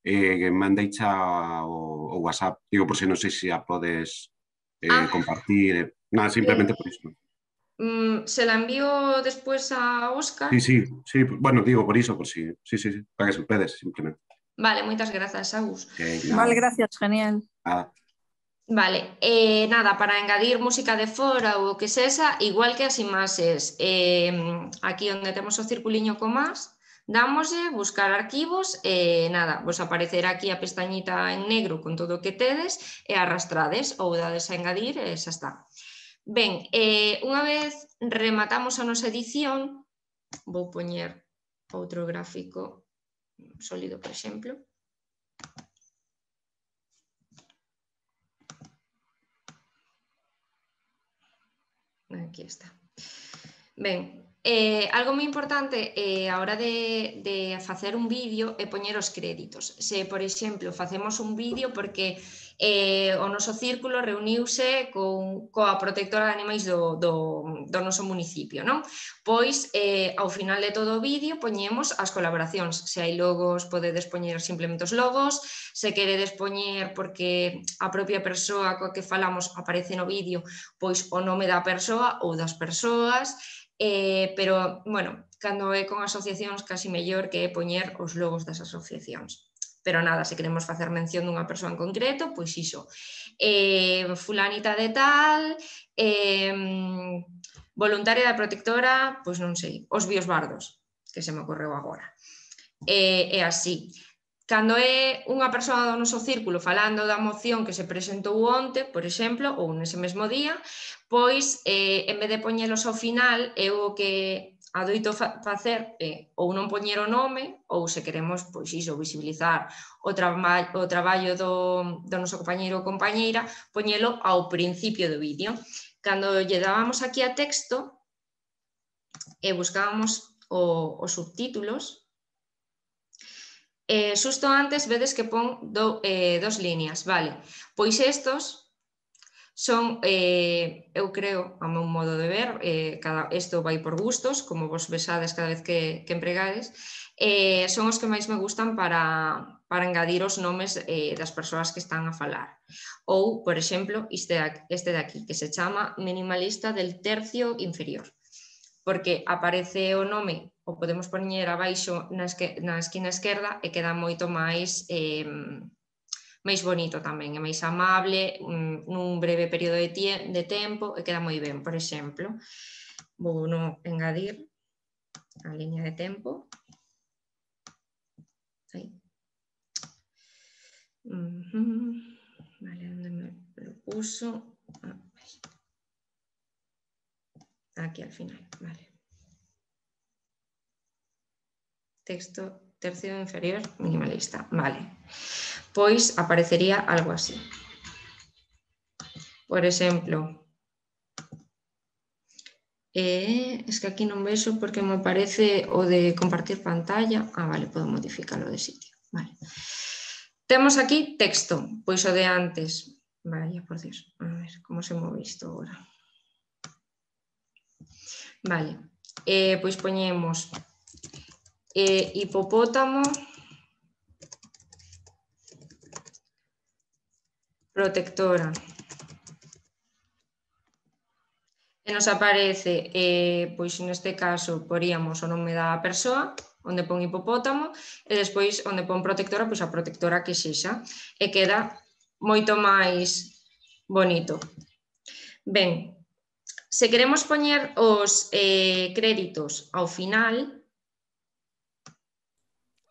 Eh, mandeicha o, o WhatsApp, digo, por si non sei se a podes eh, ah. compartir. Nada, simplemente eh, por iso. Mm, se la envío despois a Óscar? Sí, sí, sí, bueno, digo por iso, por si, sí, sí, sí, para que se pedes, simplemente. Vale, moitas grazas, Agus. Okay, vale, gracias, genial. Nada. Vale, eh, nada, para engadir música de fora ou o que sexa, igual que as imaxes, eh, aquí onde temos o circuliño con más, dámoslle buscar arquivos e nada, vos aparecerá aquí a pestañita en negro con todo o que tedes e arrastrades ou dades a engadir e xa está. Ben, eh, unha vez rematamos a nosa edición, vou poñer outro gráfico sólido, por exemplo. Aquí está. Ben, eh, algo moi importante eh, a hora de, de facer un vídeo é poñer os créditos. Se, por exemplo, facemos un vídeo porque eh, o noso círculo reuniuse con, coa protectora de animais do, do, do noso municipio, non? Pois, eh, ao final de todo o vídeo poñemos as colaboracións. Se hai logos, podedes poñer simplemente os logos. Se queredes poñer porque a propia persoa coa que falamos aparece no vídeo, pois o nome da persoa ou das persoas. Eh, pero, bueno, cando é con asociacións casi mellor que é poñer os logos das asociacións. Pero nada, se queremos facer mención dunha persoa en concreto, pois iso. Eh, fulanita de tal, eh, voluntaria da protectora, pois non sei, os bios bardos, que se me ocorreu agora. Eh, é así. Cando é unha persoa do noso círculo falando da moción que se presentou onte, por exemplo, ou nese mesmo día, pois, eh, en vez de poñelos ao final, eu o que adoito facer é ou non poñer o nome, ou se queremos, pois iso, visibilizar o, traba o traballo do, do noso compañeiro ou compañeira, poñelo ao principio do vídeo. Cando lle dábamos aquí a texto e buscábamos o, os subtítulos, eh, xusto antes vedes que pon do, eh, dos líneas, vale? Pois estos son, eh, eu creo, a meu modo de ver, eh, cada, isto vai por gustos, como vos besades cada vez que, que empregades, eh, son os que máis me gustan para, para engadir os nomes eh, das persoas que están a falar. Ou, por exemplo, este, este de aquí, que se chama Minimalista del tercio inferior, porque aparece o nome, o podemos poñer abaixo na, esque, na esquina esquerda e queda moito máis... Eh, máis bonito tamén, é máis amable, nun breve período de, de tempo e queda moi ben. Por exemplo, vou no engadir a liña de tempo. Aí. Uh-huh. Vale, onde me lo puso? Ah, aquí al final, vale. Texto tercio inferior minimalista, vale. Pois aparecería algo así. Por exemplo, eh, es que aquí non vexo porque me parece o de compartir pantalla. Ah, vale, podo modificarlo de sitio. Vale. Temos aquí texto, pois o de antes. Vaya, por Dios, a ver, como se move isto agora. Vale, eh, pois poñemos eh, hipopótamo protectora. E nos aparece, eh, pois neste caso, poríamos o nome da persoa, onde pon hipopótamo, e despois onde pon protectora, pois a protectora que sexa, e queda moito máis bonito. Ben, se queremos poñer os eh, créditos ao final...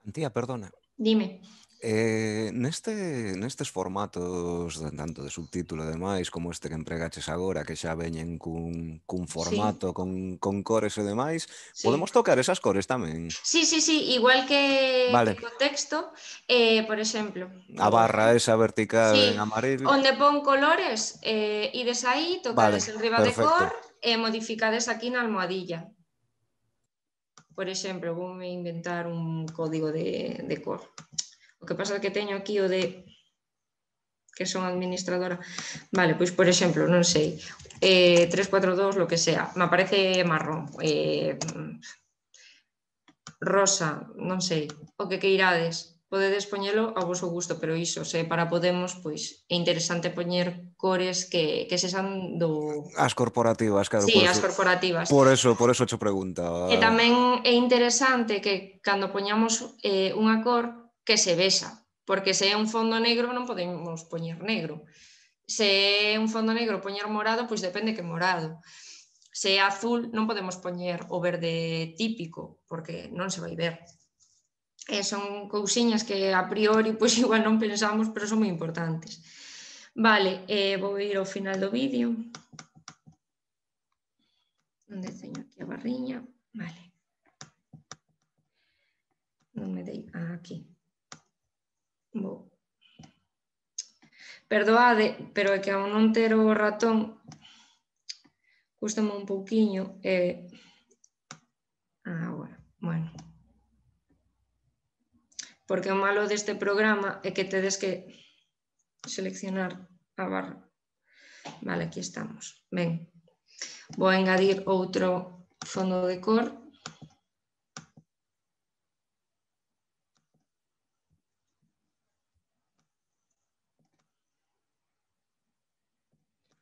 Antía, perdona. Dime. Eh, neste, nestes formatos de, tanto de subtítulo e demais como este que empregaches agora, que xa veñen cun, cun formato, sí. con, con cores e demais, sí. Podemos tocar esas cores tamén? Sí, sí, sí, igual que, vale. que co texto, eh, por exemplo... A barra esa vertical sí, en amarillo. Onde pon colores, eh, ides aí, tocades vale, enriba de cor e modificades aquí na almohadilla. Por exemplo, vou me inventar un código de, de cor. O que pasa é que teño aquí o de que son administradora. Vale, pois por exemplo, non sei, eh, tres, cuatro, dos, lo que sea, me aparece marrón, eh, rosa, non sei, o que queirades. Podedes poñelo a vosso gusto, pero iso, se para Podemos, pois é interesante poñer cores que, que sexan do... As corporativas, claro. Sí, por as eso, corporativas. Por eso, por eso te preguntaba. E tamén é interesante que cando poñamos eh, unha cor que se vexa, porque se é un fondo negro non podemos poñer negro. Se é un fondo negro poñer morado, pois depende que morado. Se é azul non podemos poñer o verde típico, porque non se vai ver. E son cousiñas que a priori pois igual non pensamos, pero son moi importantes. Vale, eh, vou ir ao final do vídeo. Onde teño aquí a barriña? Vale. Non me dei... Ah, aquí. Vou. Perdoade, pero é que ao non ter o ratón custame un pouquiño. Eh... Agora, bueno. Porque o malo deste programa é que tedes que seleccionar a barra. Vale, aquí estamos. Ben, vou engadir outro fondo de cor.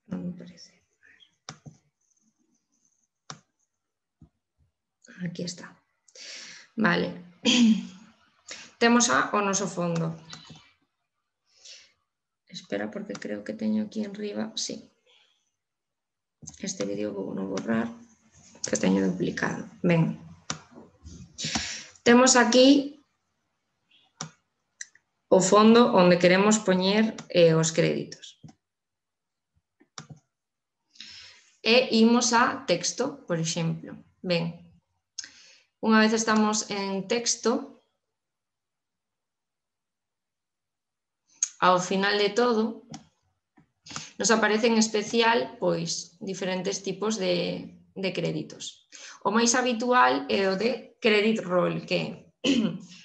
Non me parece. Aquí está. Vale. Temos a o noso fondo. Espera, porque creo que teño aquí enriba. Sí. Este vídeo vou non borrar, que teño duplicado. Ben. Temos aquí o fondo onde queremos poñer eh, os créditos. E imos a texto, por exemplo. Ben. Unha vez estamos en texto, ao final de todo, nos aparece en especial pois, diferentes tipos de, de créditos. O máis habitual é o de credit roll, que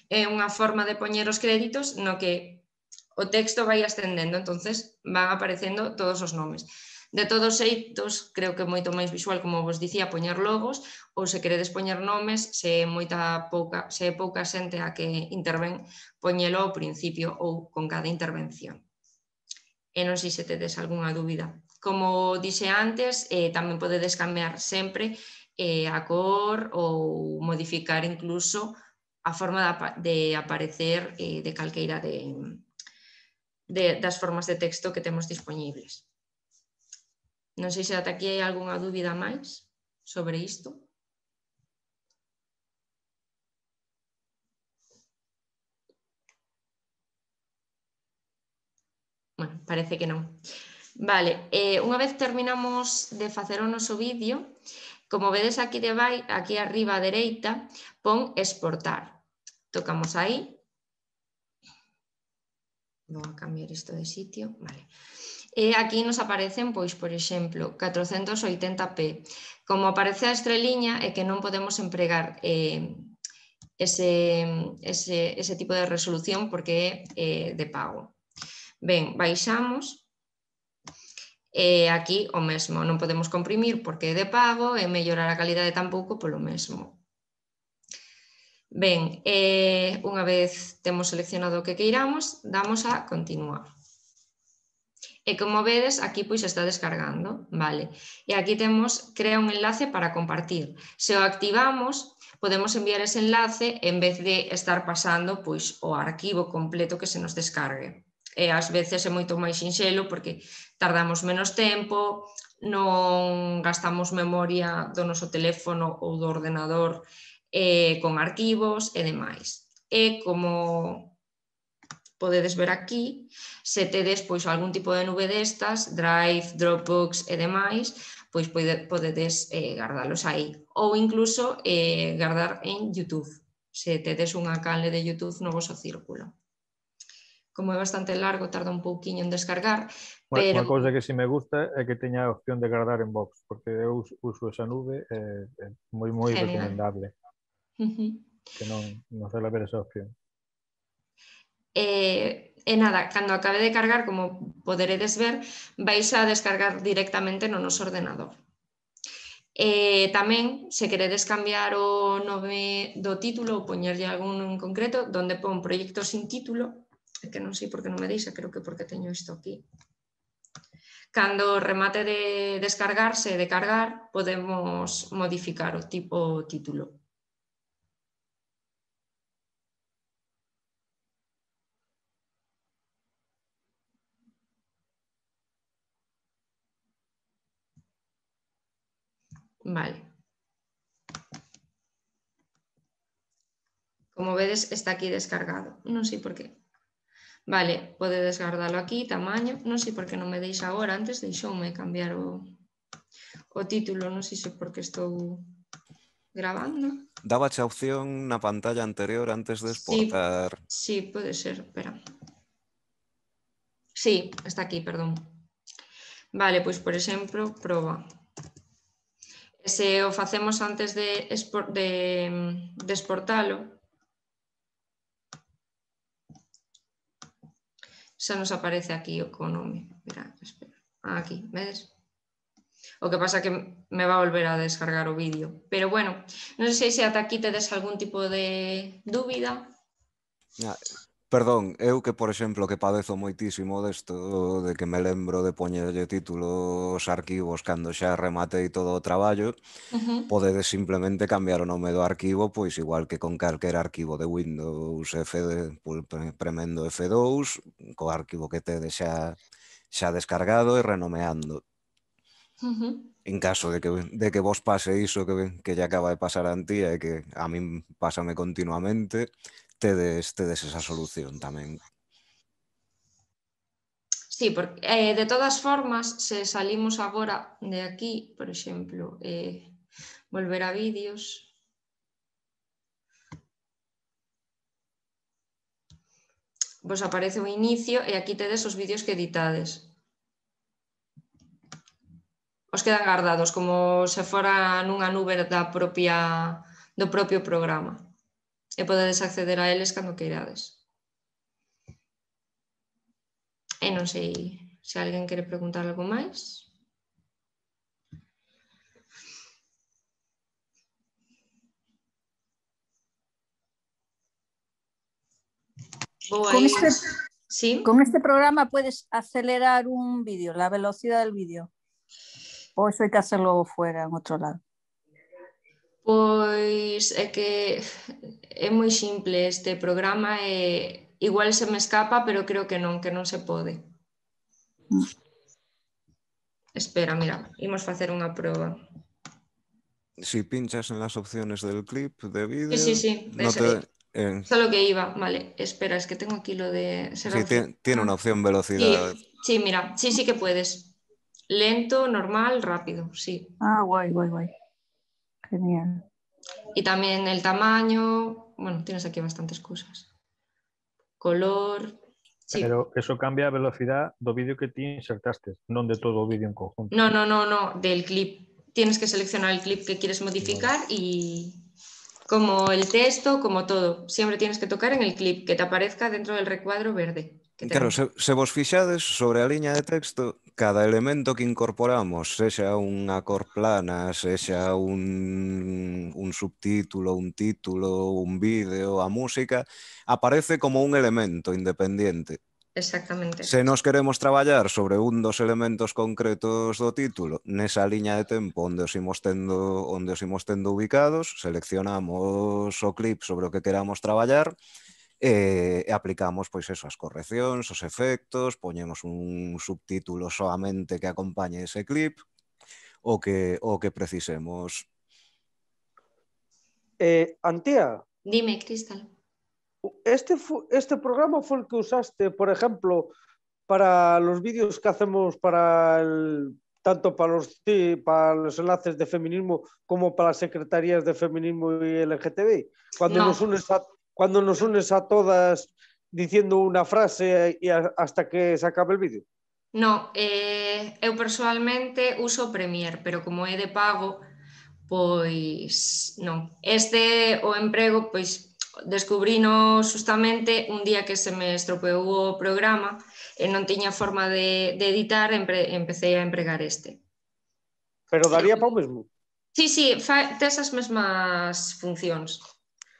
é unha forma de poñer os créditos no que o texto vai ascendendo, entonces van aparecendo todos os nomes. De todos xeitos, creo que é moito máis visual, como vos dicía, poñer logos, ou se queredes poñer nomes, se é moita pouca, se é pouca xente a que interven, poñelo ao principio ou con cada intervención. E non sei se tedes algunha dúbida. Como dixe antes, eh, tamén podedes cambiar sempre eh, a cor ou modificar incluso a forma de, de aparecer eh, de calqueira de, de, das formas de texto que temos disponibles. Non sei se ata aquí hai algunha dúbida máis sobre isto. Bueno, parece que non. Vale, eh, unha vez terminamos de facer o noso vídeo, como vedes aquí debai, aquí arriba a dereita, pon exportar. Tocamos aí. Vou a cambiar isto de sitio. Vale. E aquí nos aparecen, pois, por exemplo, catrocentos oitenta p. Como aparece a estreliña é que non podemos empregar eh, ese, ese, ese tipo de resolución porque é eh, de pago. Ben, baixamos. E aquí o mesmo, non podemos comprimir porque é de pago e mellorar a calidade tampouco polo mesmo. Ben, eh, unha vez temos seleccionado o que queiramos, damos a continuar. E como vedes, aquí pois está descargando, vale? E aquí temos, crea un enlace para compartir. Se o activamos, podemos enviar ese enlace en vez de estar pasando pois o arquivo completo que se nos descargue. E ás veces é moito máis sinxelo porque tardamos menos tempo, non gastamos memoria do noso teléfono ou do ordenador eh, con arquivos e demais. E como podedes ver aquí, se tedes pois, algún tipo de nube destas, Drive, Dropbox e demais, pois pode, podedes eh, guardalos aí. Ou incluso eh, guardar en YouTube, se tedes unha canle de YouTube no voso círculo. Como é bastante largo, tarda un pouquiño en descargar, pero... Unha cousa que si me gusta é que teña a opción de guardar en Box, porque eu uso esa nube e é moi moi recomendable. Uh-huh. Que non, non suele haber esa opción. E, e nada, cando acabe de cargar, como poderedes ver, vais a descargar directamente no noso ordenador. E tamén, se queredes cambiar o nome do título ou poñerlle algún en concreto, donde pon proxecto sin título, que non sei por que non me deixa, creo que porque teño isto aquí. Cando remate de descargarse e de cargar, podemos modificar o tipo título. Vale. Como vedes, está aquí descargado. Non sei por qué. Vale, podedes guardalo aquí, tamaño. Non sei por que non me deixa agora. Antes deixoume cambiar o, o título. Non sei se porque estou grabando. Dábache a opción na pantalla anterior antes de exportar. Sí, sí, pode ser. Espera. Sí, está aquí, perdón. Vale, pois, por exemplo, proba. Se o facemos antes de, export, de, de exportalo, xa nos aparece aquí o nome. Espera, espera. Ah, aquí, vedes? O que pasa que me va a volver a descargar o vídeo. Pero bueno, non sei se ata aquí tedes algún tipo de dúbida. Ah, perdón, eu que, por exemplo, que padezo moitísimo desto, de que me lembro de poñerlle títulos arquivos cando xa rematei todo o traballo, uh-huh. Podedes simplemente cambiar o nome do arquivo, pois igual que con calquer arquivo de Windows, F de, premendo F dous, co arquivo que tedes xa, xa descargado e renomeando. Uh-huh. En caso de que, de que vos pase iso que, que lle acaba de pasar a Antía e que a min pásame continuamente, tedes, tedes esa solución tamén. Sí, porque eh, de todas formas, se salimos agora de aquí, por exemplo, eh, volver a vídeos, vos aparece o inicio e aquí tedes os vídeos que editades. Os quedan guardados como se fora nunha nube da propia, do propio programa e podedes acceder a eles cando queirades. E non sei se alguén quere preguntar algo máis. Con este, ¿Sí? con este programa puedes acelerar un vídeo, la velocidad del vídeo. ¿O eso hay que hacerlo fuera, en otro lado? Pois é que é moi simple este programa e igual se me escapa, pero creo que non, que non se pode. Mm. Espera, mira, imos facer unha proba. Si pinchas en las opciones del clip de vídeo... Sí, sí, sí. No te... eh... Solo que iba, vale. Espera, es que tengo aquí lo de... Sí, tiene, tiene una opción velocidad. Sí, sí, mira, sí, sí que puedes. Lento, normal, rápido, sí. Ah, guay, guay, guay. Genial. Y también el tamaño, bueno, tienes aquí bastantes cosas. Color... Sí. Pero eso cambia a velocidad do vídeo que ti insertaste, non de todo o vídeo en conjunto. No, no, no, no, del clip. Tienes que seleccionar el clip que quieres modificar no. Y como el texto, como todo. Siempre tienes que tocar en el clip, que te aparezca dentro del recuadro verde. Claro, se, se vos fixades sobre a liña de texto, cada elemento que incorporamos, sexa unha cor plana, sexa un, un subtítulo, un título, un vídeo, a música, aparece como un elemento independiente. Exactamente. Se nos queremos traballar sobre un dos elementos concretos do título, nesa liña de tempo onde os imos tendo, onde os imos tendo ubicados, seleccionamos o clip sobre o que queramos traballar e, e aplicamos pois eso, as correccións, os efectos, poñemos un subtítulo soamente que acompañe ese clip, o que, o que precisemos. Eh, Antía, Dime, Cristal. Este, este programa fue el que usaste, por ejemplo, para los vídeos que hacemos para el, tanto para los, para los enlaces de feminismo como para las secretarías de feminismo y L G T B. Cuando, no. nos, unes a, cuando nos unes a todas diciendo una frase y a, hasta que se acabe el vídeo. No, eh, eu personalmente uso Premiere, pero como é de pago, pois non. Este o emprego, pois descubrino justamente un día que se me estropeou o programa e non tiña forma de, de editar, empre, empecé a empregar este. Pero daría para o mesmo? Sí, sí, tes as mesmas funcións.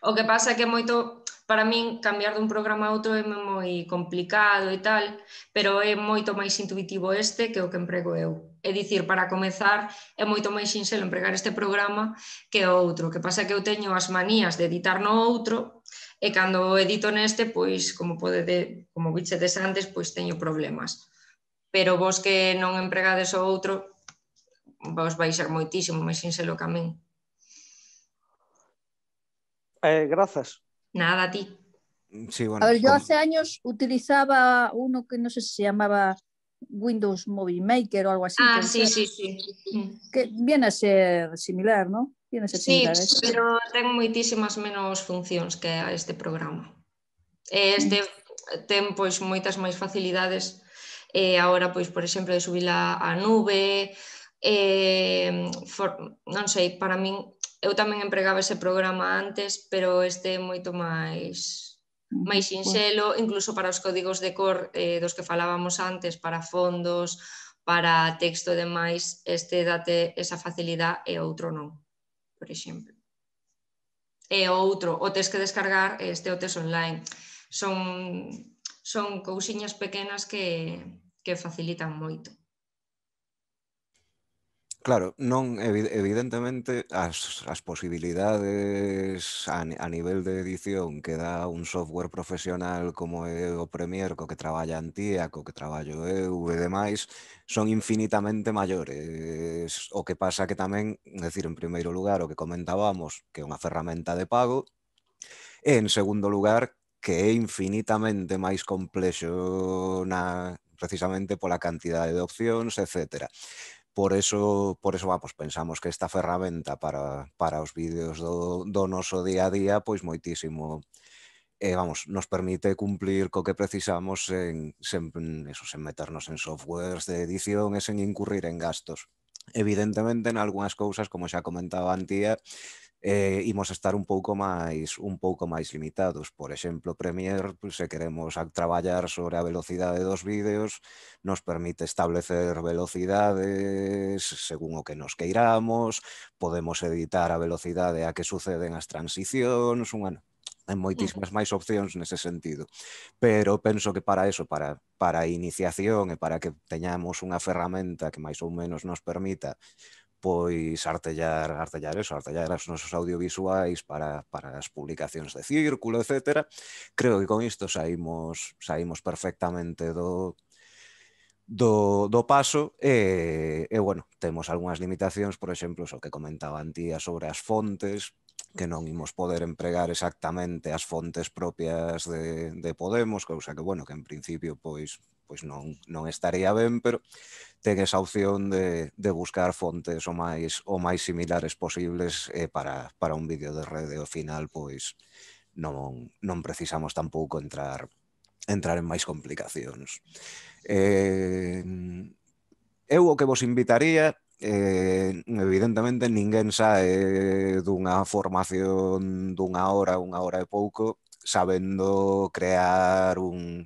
O que pasa é que moito, para min, cambiar dun programa a outro é moi complicado e tal, pero é moito máis intuitivo este que o que emprego eu. É dicir, para comezar, é moito máis sinxelo empregar este programa que o outro. O que pasa é que eu teño as manías de editar no outro e cando edito neste, pois, como pode, como bichedes antes, pois teño problemas. Pero vos que non empregades o outro, vos vai ser moitísimo máis sinxelo que a min. Eh, grazas. Nada, a ti. Sí, bueno, a ver, yo hace años utilizaba uno que no sé si se llamaba Windows Movie Maker o algo así. Ah, sí, sí, sí. Que viene a ser similar, ¿no? Viene a ser sí, similar. ¿eh? Pero ten moitísimas menos funcións que a este programa. Este ten pois moitas máis facilidades e agora, pois, por exemplo, de subila á nube, eh, for, non sei, para min, eu tamén empregaba ese programa antes, pero este é moito máis máis sinxelo, incluso para os códigos de cor eh, dos que falábamos antes, para fondos, para texto e demais, este date esa facilidade e outro non, por exemplo. E o outro, o tes que descargar, este o tes online. Son, son cousiñas pequenas que, que facilitan moito. Claro, non, evidentemente as, as posibilidades a, a nivel de edición que dá un software profesional como é o Premiere, co que traballa Antía, co que traballo eu e demais, son infinitamente maiores. O que pasa que tamén, decir, en primeiro lugar, o que comentábamos, que é unha ferramenta de pago, e en segundo lugar, que é infinitamente máis complexo na, precisamente pola cantidade de opcións, etcétera. Por eso, por eso vamos, pensamos que esta ferramenta para, para os vídeos do, do noso día a día, pois moitísimo, eh, vamos, nos permite cumplir co que precisamos sen, sen, eso, sen meternos en softwares de edición e sen incurrir en gastos. Evidentemente, en algunhas cousas, como xa comentaba Antía, eh, imos estar un pouco máis un pouco máis limitados. Por exemplo, Premiere, pues, se queremos a traballar sobre a velocidade dos vídeos, nos permite establecer velocidades según o que nos queiramos, podemos editar a velocidade a que suceden as transicións, unha, hai moitísimas máis opcións nese sentido. Pero penso que para eso, para, para a iniciación e para que teñamos unha ferramenta que máis ou menos nos permita pois artellar, artellar eso, artellar os nosos audiovisuais para, para as publicacións de Círculo, etcétera. Creo que con isto saímos, saímos perfectamente do, do, do paso e, e, bueno, temos algunhas limitacións, por exemplo, o que comentaba Antía sobre as fontes, que non imos poder empregar exactamente as fontes propias de, de Podemos, cousa que, bueno, que en principio, pois, pois non, non estaría ben, pero ten esa opción de, de buscar fontes o máis, o máis similares posibles eh, para, para un vídeo de rede. Ao final, pois, non, non precisamos tampouco entrar, entrar en máis complicacións. Eh, eu o que vos invitaría, eh, evidentemente, ninguén sae dunha formación dunha hora, unha hora e pouco, sabendo crear un,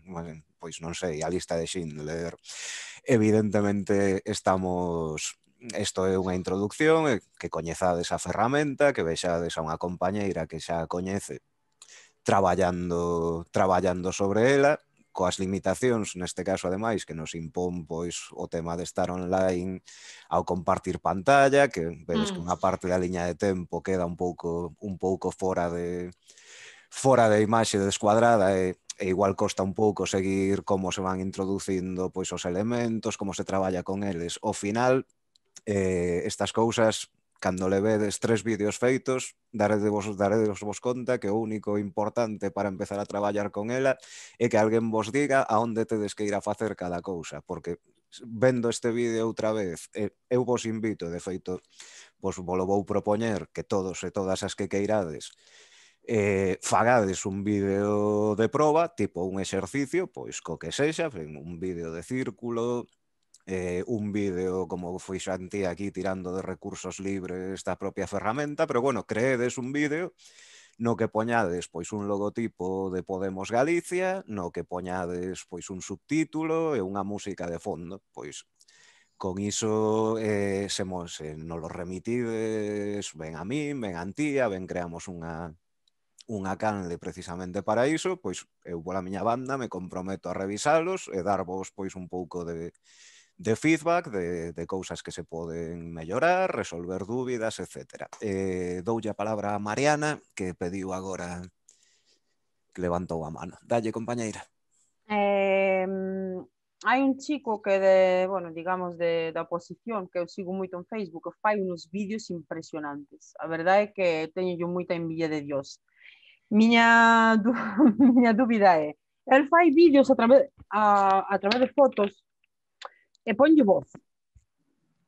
pois non sei, a lista de Schindler. Evidentemente estamos, isto é unha introducción, que coñezades a ferramenta, que vexades a unha compañeira que xa a coñece traballando, traballando sobre ela, coas limitacións, neste caso ademais, que nos impón pois o tema de estar online ao compartir pantalla, que vedes que unha parte da liña de tempo queda un pouco un pouco fora de fora de imaxe descuadrada e, e igual costa un pouco seguir como se van introducindo pois os elementos, como se traballa con eles. Ao final, eh, estas cousas, cando le vedes tres vídeos feitos, daredevos, daredevos vos conta que o único importante para empezar a traballar con ela é que alguén vos diga a onde tedes que ir a facer cada cousa, porque vendo este vídeo outra vez, eu vos invito, de feito, vos volo vou propoñer que todos e todas as que queirades eh, fagades un vídeo de proba, tipo un exercicio, pois co que sexa, un vídeo de círculo, Eh, un vídeo como foi Xanti aquí tirando de recursos libres da propia ferramenta, pero bueno, creedes un vídeo no que poñades pois un logotipo de Podemos Galicia, no que poñades pois un subtítulo e unha música de fondo, pois con iso eh, se, se nos lo remitides ben a min, ben a Antía, ben creamos unha unha canle precisamente para iso, pois eu pola miña banda me comprometo a revisalos e darvos pois un pouco de de feedback, de, de cousas que se poden mellorar, resolver dúbidas, etcétera. Eh, doulle a palabra a Mariana, que pediu agora, que levantou a mano. Dalle, compañeira. Eh, hai un chico que de, bueno, digamos, de, da oposición, que eu sigo moito en Facebook, que fai unos vídeos impresionantes. A verdade é que teño yo moita envidia de Dios. Miña, miña dúbida é, el fai vídeos a través, a, a través de fotos e ponlle voz.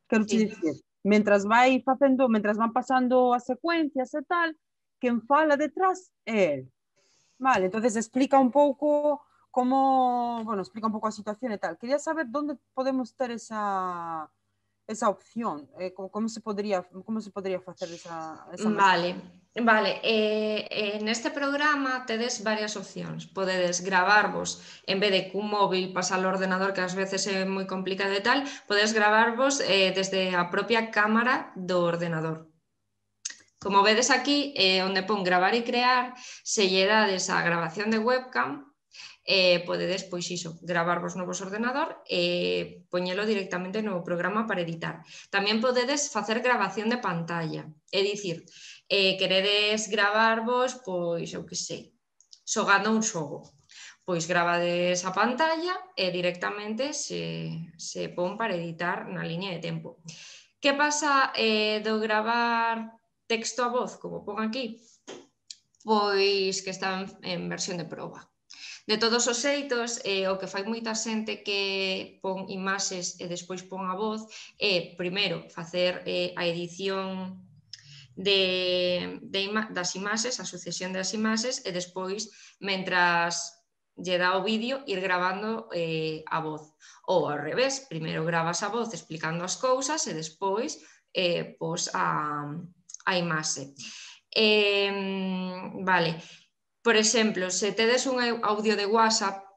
Quero te dicir, mentras vai facendo, mentras van pasando as secuencias e tal, quen fala detrás é el. Vale, entonces explica un pouco como, bueno, explica un pouco a situación e tal. Quería saber onde podemos ter esa esa opción, eh, como, como se podría como se podría facer esa, esa Vale, vale. Eh, eh, neste programa tedes varias opcións. Podedes gravarvos, en vez de cun móvil pasar ao ordenador, que ás veces é moi complicado e tal, podedes gravarvos eh, desde a propia cámara do ordenador. Como vedes aquí, eh, onde pon gravar e crear, se lle dades a grabación de webcam, eh, podedes, pois iso, gravarvos no vos ordenador e poñelo directamente no programa para editar. Tamén podedes facer grabación de pantalla, é dicir, eh, queredes gravarvos, pois, eu que sei, xogando un xogo. Pois gravades a pantalla e directamente se, se pon para editar na liña de tempo. Que pasa eh, do gravar texto a voz, como pon aquí? Pois que está en, en versión de proba. De todos os xeitos, eh, o que fai moita xente que pon imaxes e despois pon a voz é, primeiro, facer eh, a edición de, de ima das imaxes, a sucesión das imaxes, e despois, mentras lle dá o vídeo, ir gravando eh, a voz. Ou ao revés, primeiro gravas a voz explicando as cousas e despois eh, pos a, a imaxe. Eh, vale. Por exemplo, se tedes un audio de WhatsApp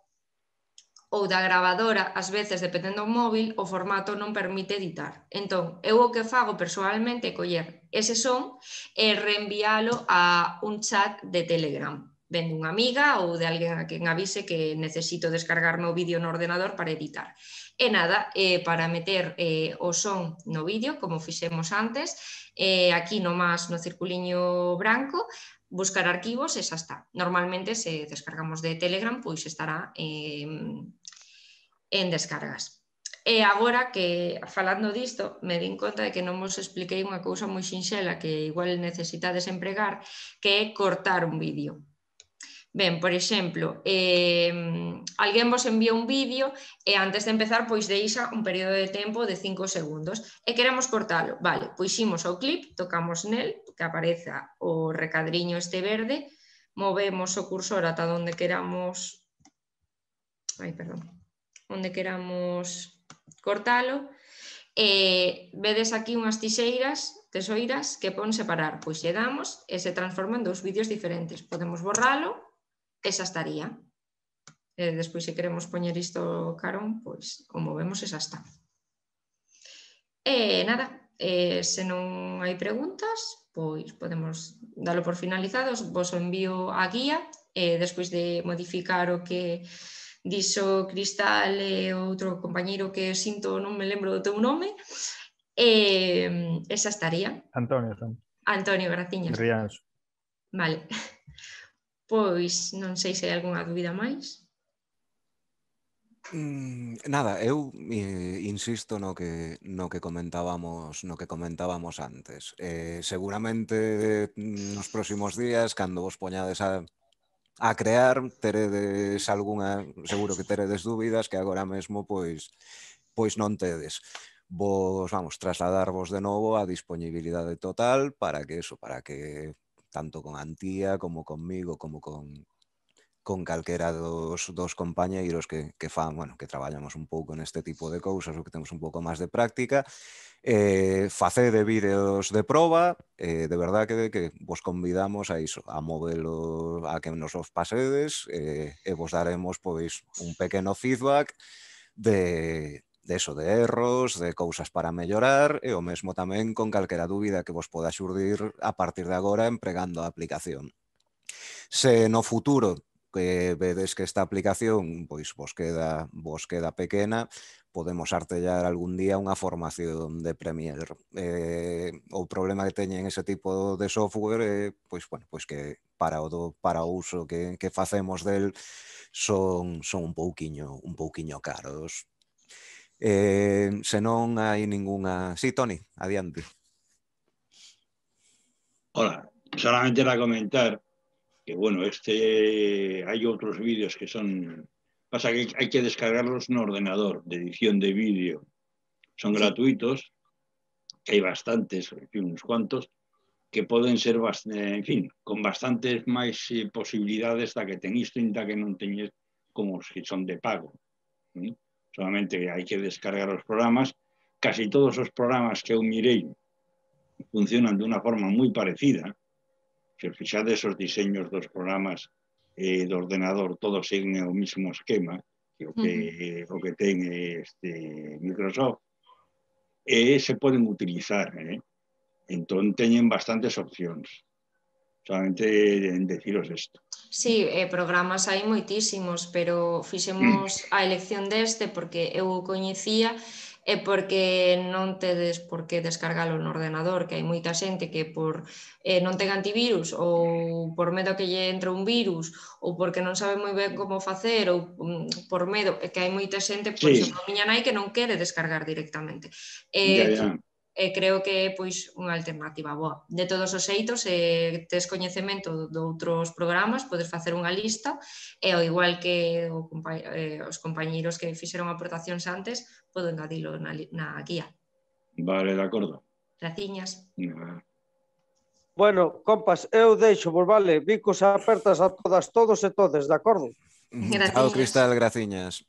ou da gravadora, ás veces, dependendo do móvil, o formato non permite editar. Entón, eu o que fago persoalmente é coller ese son e reenviálo a un chat de Telegram, ben dunha amiga ou de alguén a quen avise que necesito descargarme o vídeo no ordenador para editar. E nada, eh, para meter eh, o son no vídeo, como fixemos antes, eh, aquí nomás no circuliño branco, buscar arquivos e xa está. Normalmente, se descargamos de Telegram, pois estará eh, en descargas. E agora que, falando disto, me din conta de que non vos expliquei unha cousa moi sinxela que igual necesitades empregar, que é cortar un vídeo. Ben, por exemplo, eh, alguén vos envía un vídeo e antes de empezar pois deixa un período de tempo de cinco segundos e queremos cortalo. Vale, pois imos ao clip, tocamos nel, que apareza o recadriño este verde, movemos o cursor ata onde queramos, ai, perdón, onde queramos cortalo e vedes aquí unhas tixeiras, tesoiras, que pon separar. Pois lle damos e se transforman en dous vídeos diferentes. Podemos borralo e xa estaría. E despois, se queremos poñer isto carón, pois o movemos e xa está. E nada, eh, se non hai preguntas, pois podemos dalo por finalizados, vos envío a guía e despois de modificar o que dixo Cristal e outro compañeiro que sinto non me lembro do teu nome, e esa estaría. Antonio, Antonio. Antonio, graciñas. Rianxo. Vale. Pois non sei se hai algunha dúbida máis. Mm, nada, eu eh, insisto no que no que comentábamos no que comentábamos antes. Eh, seguramente nos próximos días, cando vos poñades a a crear, teredes algunha, seguro que teredes dúbidas que agora mesmo pois pois non tedes. Vos, vamos, trasladarvos de novo a disponibilidade total para que eso, para que tanto con Antía como conmigo como con con calquera dos, dos compañeiros que, que fan, bueno, que traballamos un pouco neste tipo de cousas ou que temos un pouco máis de práctica, eh, facede vídeos de proba, eh, de verdad que, que vos convidamos a iso, a movelo, a que nos os pasedes, eh, e vos daremos pois un pequeno feedback de, de eso, de erros, de cousas para mellorar e o mesmo tamén con calquera dúbida que vos poda xurdir a partir de agora empregando a aplicación. Se no futuro que vedes que esta aplicación pois vos queda vos queda pequena, podemos artellar algún día unha formación de Premiere. Eh, o problema que teñen ese tipo de software é eh, pois, bueno, pois que para o, do, para o uso que, que facemos del son, son un pouquiño un pouquiño caros. Eh, se non hai ningunha... Sí, Toni, adiante. Hola, solamente era comentar que, bueno, este hay otros vídeos que son... Pasa que hay que descargarlos en ordenador, de edición de vídeo. Son sí. gratuitos, que hay bastantes, en fin, unos cuantos, que poden ser, en fin, con bastantes máis eh, posibilidades da que ten isto e da que non teñes como os que son de pago. ¿sí? Solamente hai que descargar os programas. Casi todos os programas que eu mirei funcionan de unha forma moi parecida. Se fixades os diseños dos programas eh, do ordenador, todos siguen o mismo esquema que o que, uh-huh. o que ten este Microsoft, e se poden utilizar. Eh? Entón, teñen bastantes opcións. Solamente en deciros isto. Sí, eh, programas hai moitísimos, pero fixemos a elección deste porque eu o coñecía e porque non tedes por que descargalo no ordenador, que hai moita xente que por eh, non ten antivirus ou por medo que lle entre un virus ou porque non sabe moi ben como facer ou um, por medo, que hai moita xente, por sí. exemplo, a miña nai que non quere descargar directamente. Eh, ya, ya. E creo que é pois unha alternativa boa. De todos os xeitos, se tes coñecemento de outros programas, podes facer unha lista e ao igual que o compa eh, os compañeiros que fixeron aportacións antes, podo engadilo na, na guía. Vale, de acordo. Graciñas. No. Bueno, compas, eu deixo, vos vale, bicos apertas a todas, todos e todes, de acordo? Chao, Cristal, graciñas.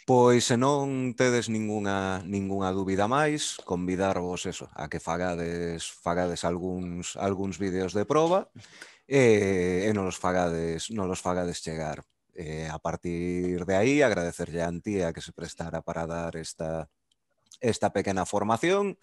Pois se non tedes ningunha, ningunha dúbida máis, convidarvos eso, a que fagades, fagades algúns, algúns vídeos de proba e, e non os fagades, non os fagades chegar. E a partir de aí, agradecerlle a Antía que se prestara para dar esta, esta pequena formación.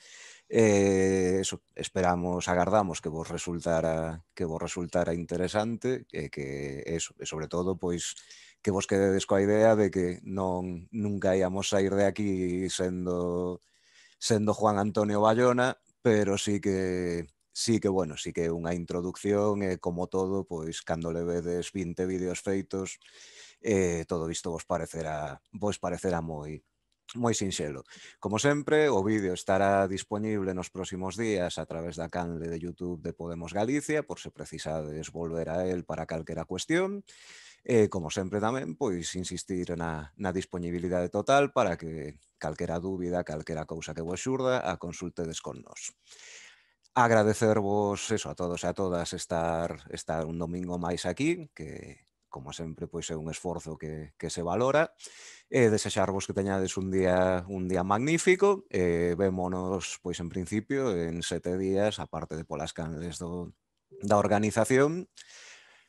Eh, eso, esperamos, agardamos que vos resultara que vos resultara interesante e que eso, e sobre todo, pois que vos quededes coa idea de que non nunca íamos sair de aquí sendo sendo Juan Antonio Bayona, pero sí que sí que bueno, sí que unha introducción e como todo, pois cando le vedes vinte vídeos feitos, eh, todo isto vos parecerá vos parecerá moi moi sinxelo. Como sempre, o vídeo estará disponible nos próximos días a través da canle de YouTube de Podemos Galicia, por se precisades volver a él para calquera cuestión. E, como sempre tamén, pois insistir na, na disponibilidade total para que calquera dúbida, calquera cousa que vos xurda, a consultedes con nós. Agradecervos eso a todos e a todas estar, estar un domingo máis aquí, que, como sempre, pois é un esforzo que, que se valora, e desexarvos que teñades un día un día magnífico, e vémonos, pois en principio, en sete días, aparte de polas canles do, da organización.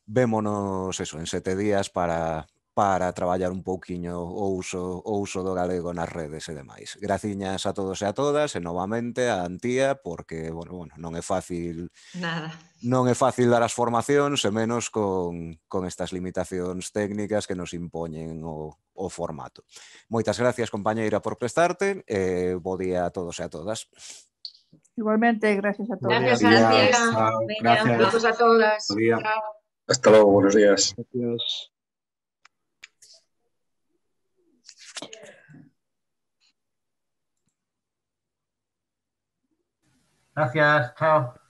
Vémonos eso, en sete días para, para traballar un pouquiño o uso, o uso do galego nas redes e demais. Graciñas a todos e a todas e novamente a Antía, porque bueno, bueno, non é fácil Nada. non é fácil dar as formacións e menos con, con estas limitacións técnicas que nos impoñen o, o formato. Moitas gracias, compañeira, por prestarte e bo día a todos e a todas. Igualmente, gracias a todos. Gracias, Antía. Gracias. Besos a todas. Buen día. Chao. Hasta luego, buenos días. Gracias. Gracias, chao.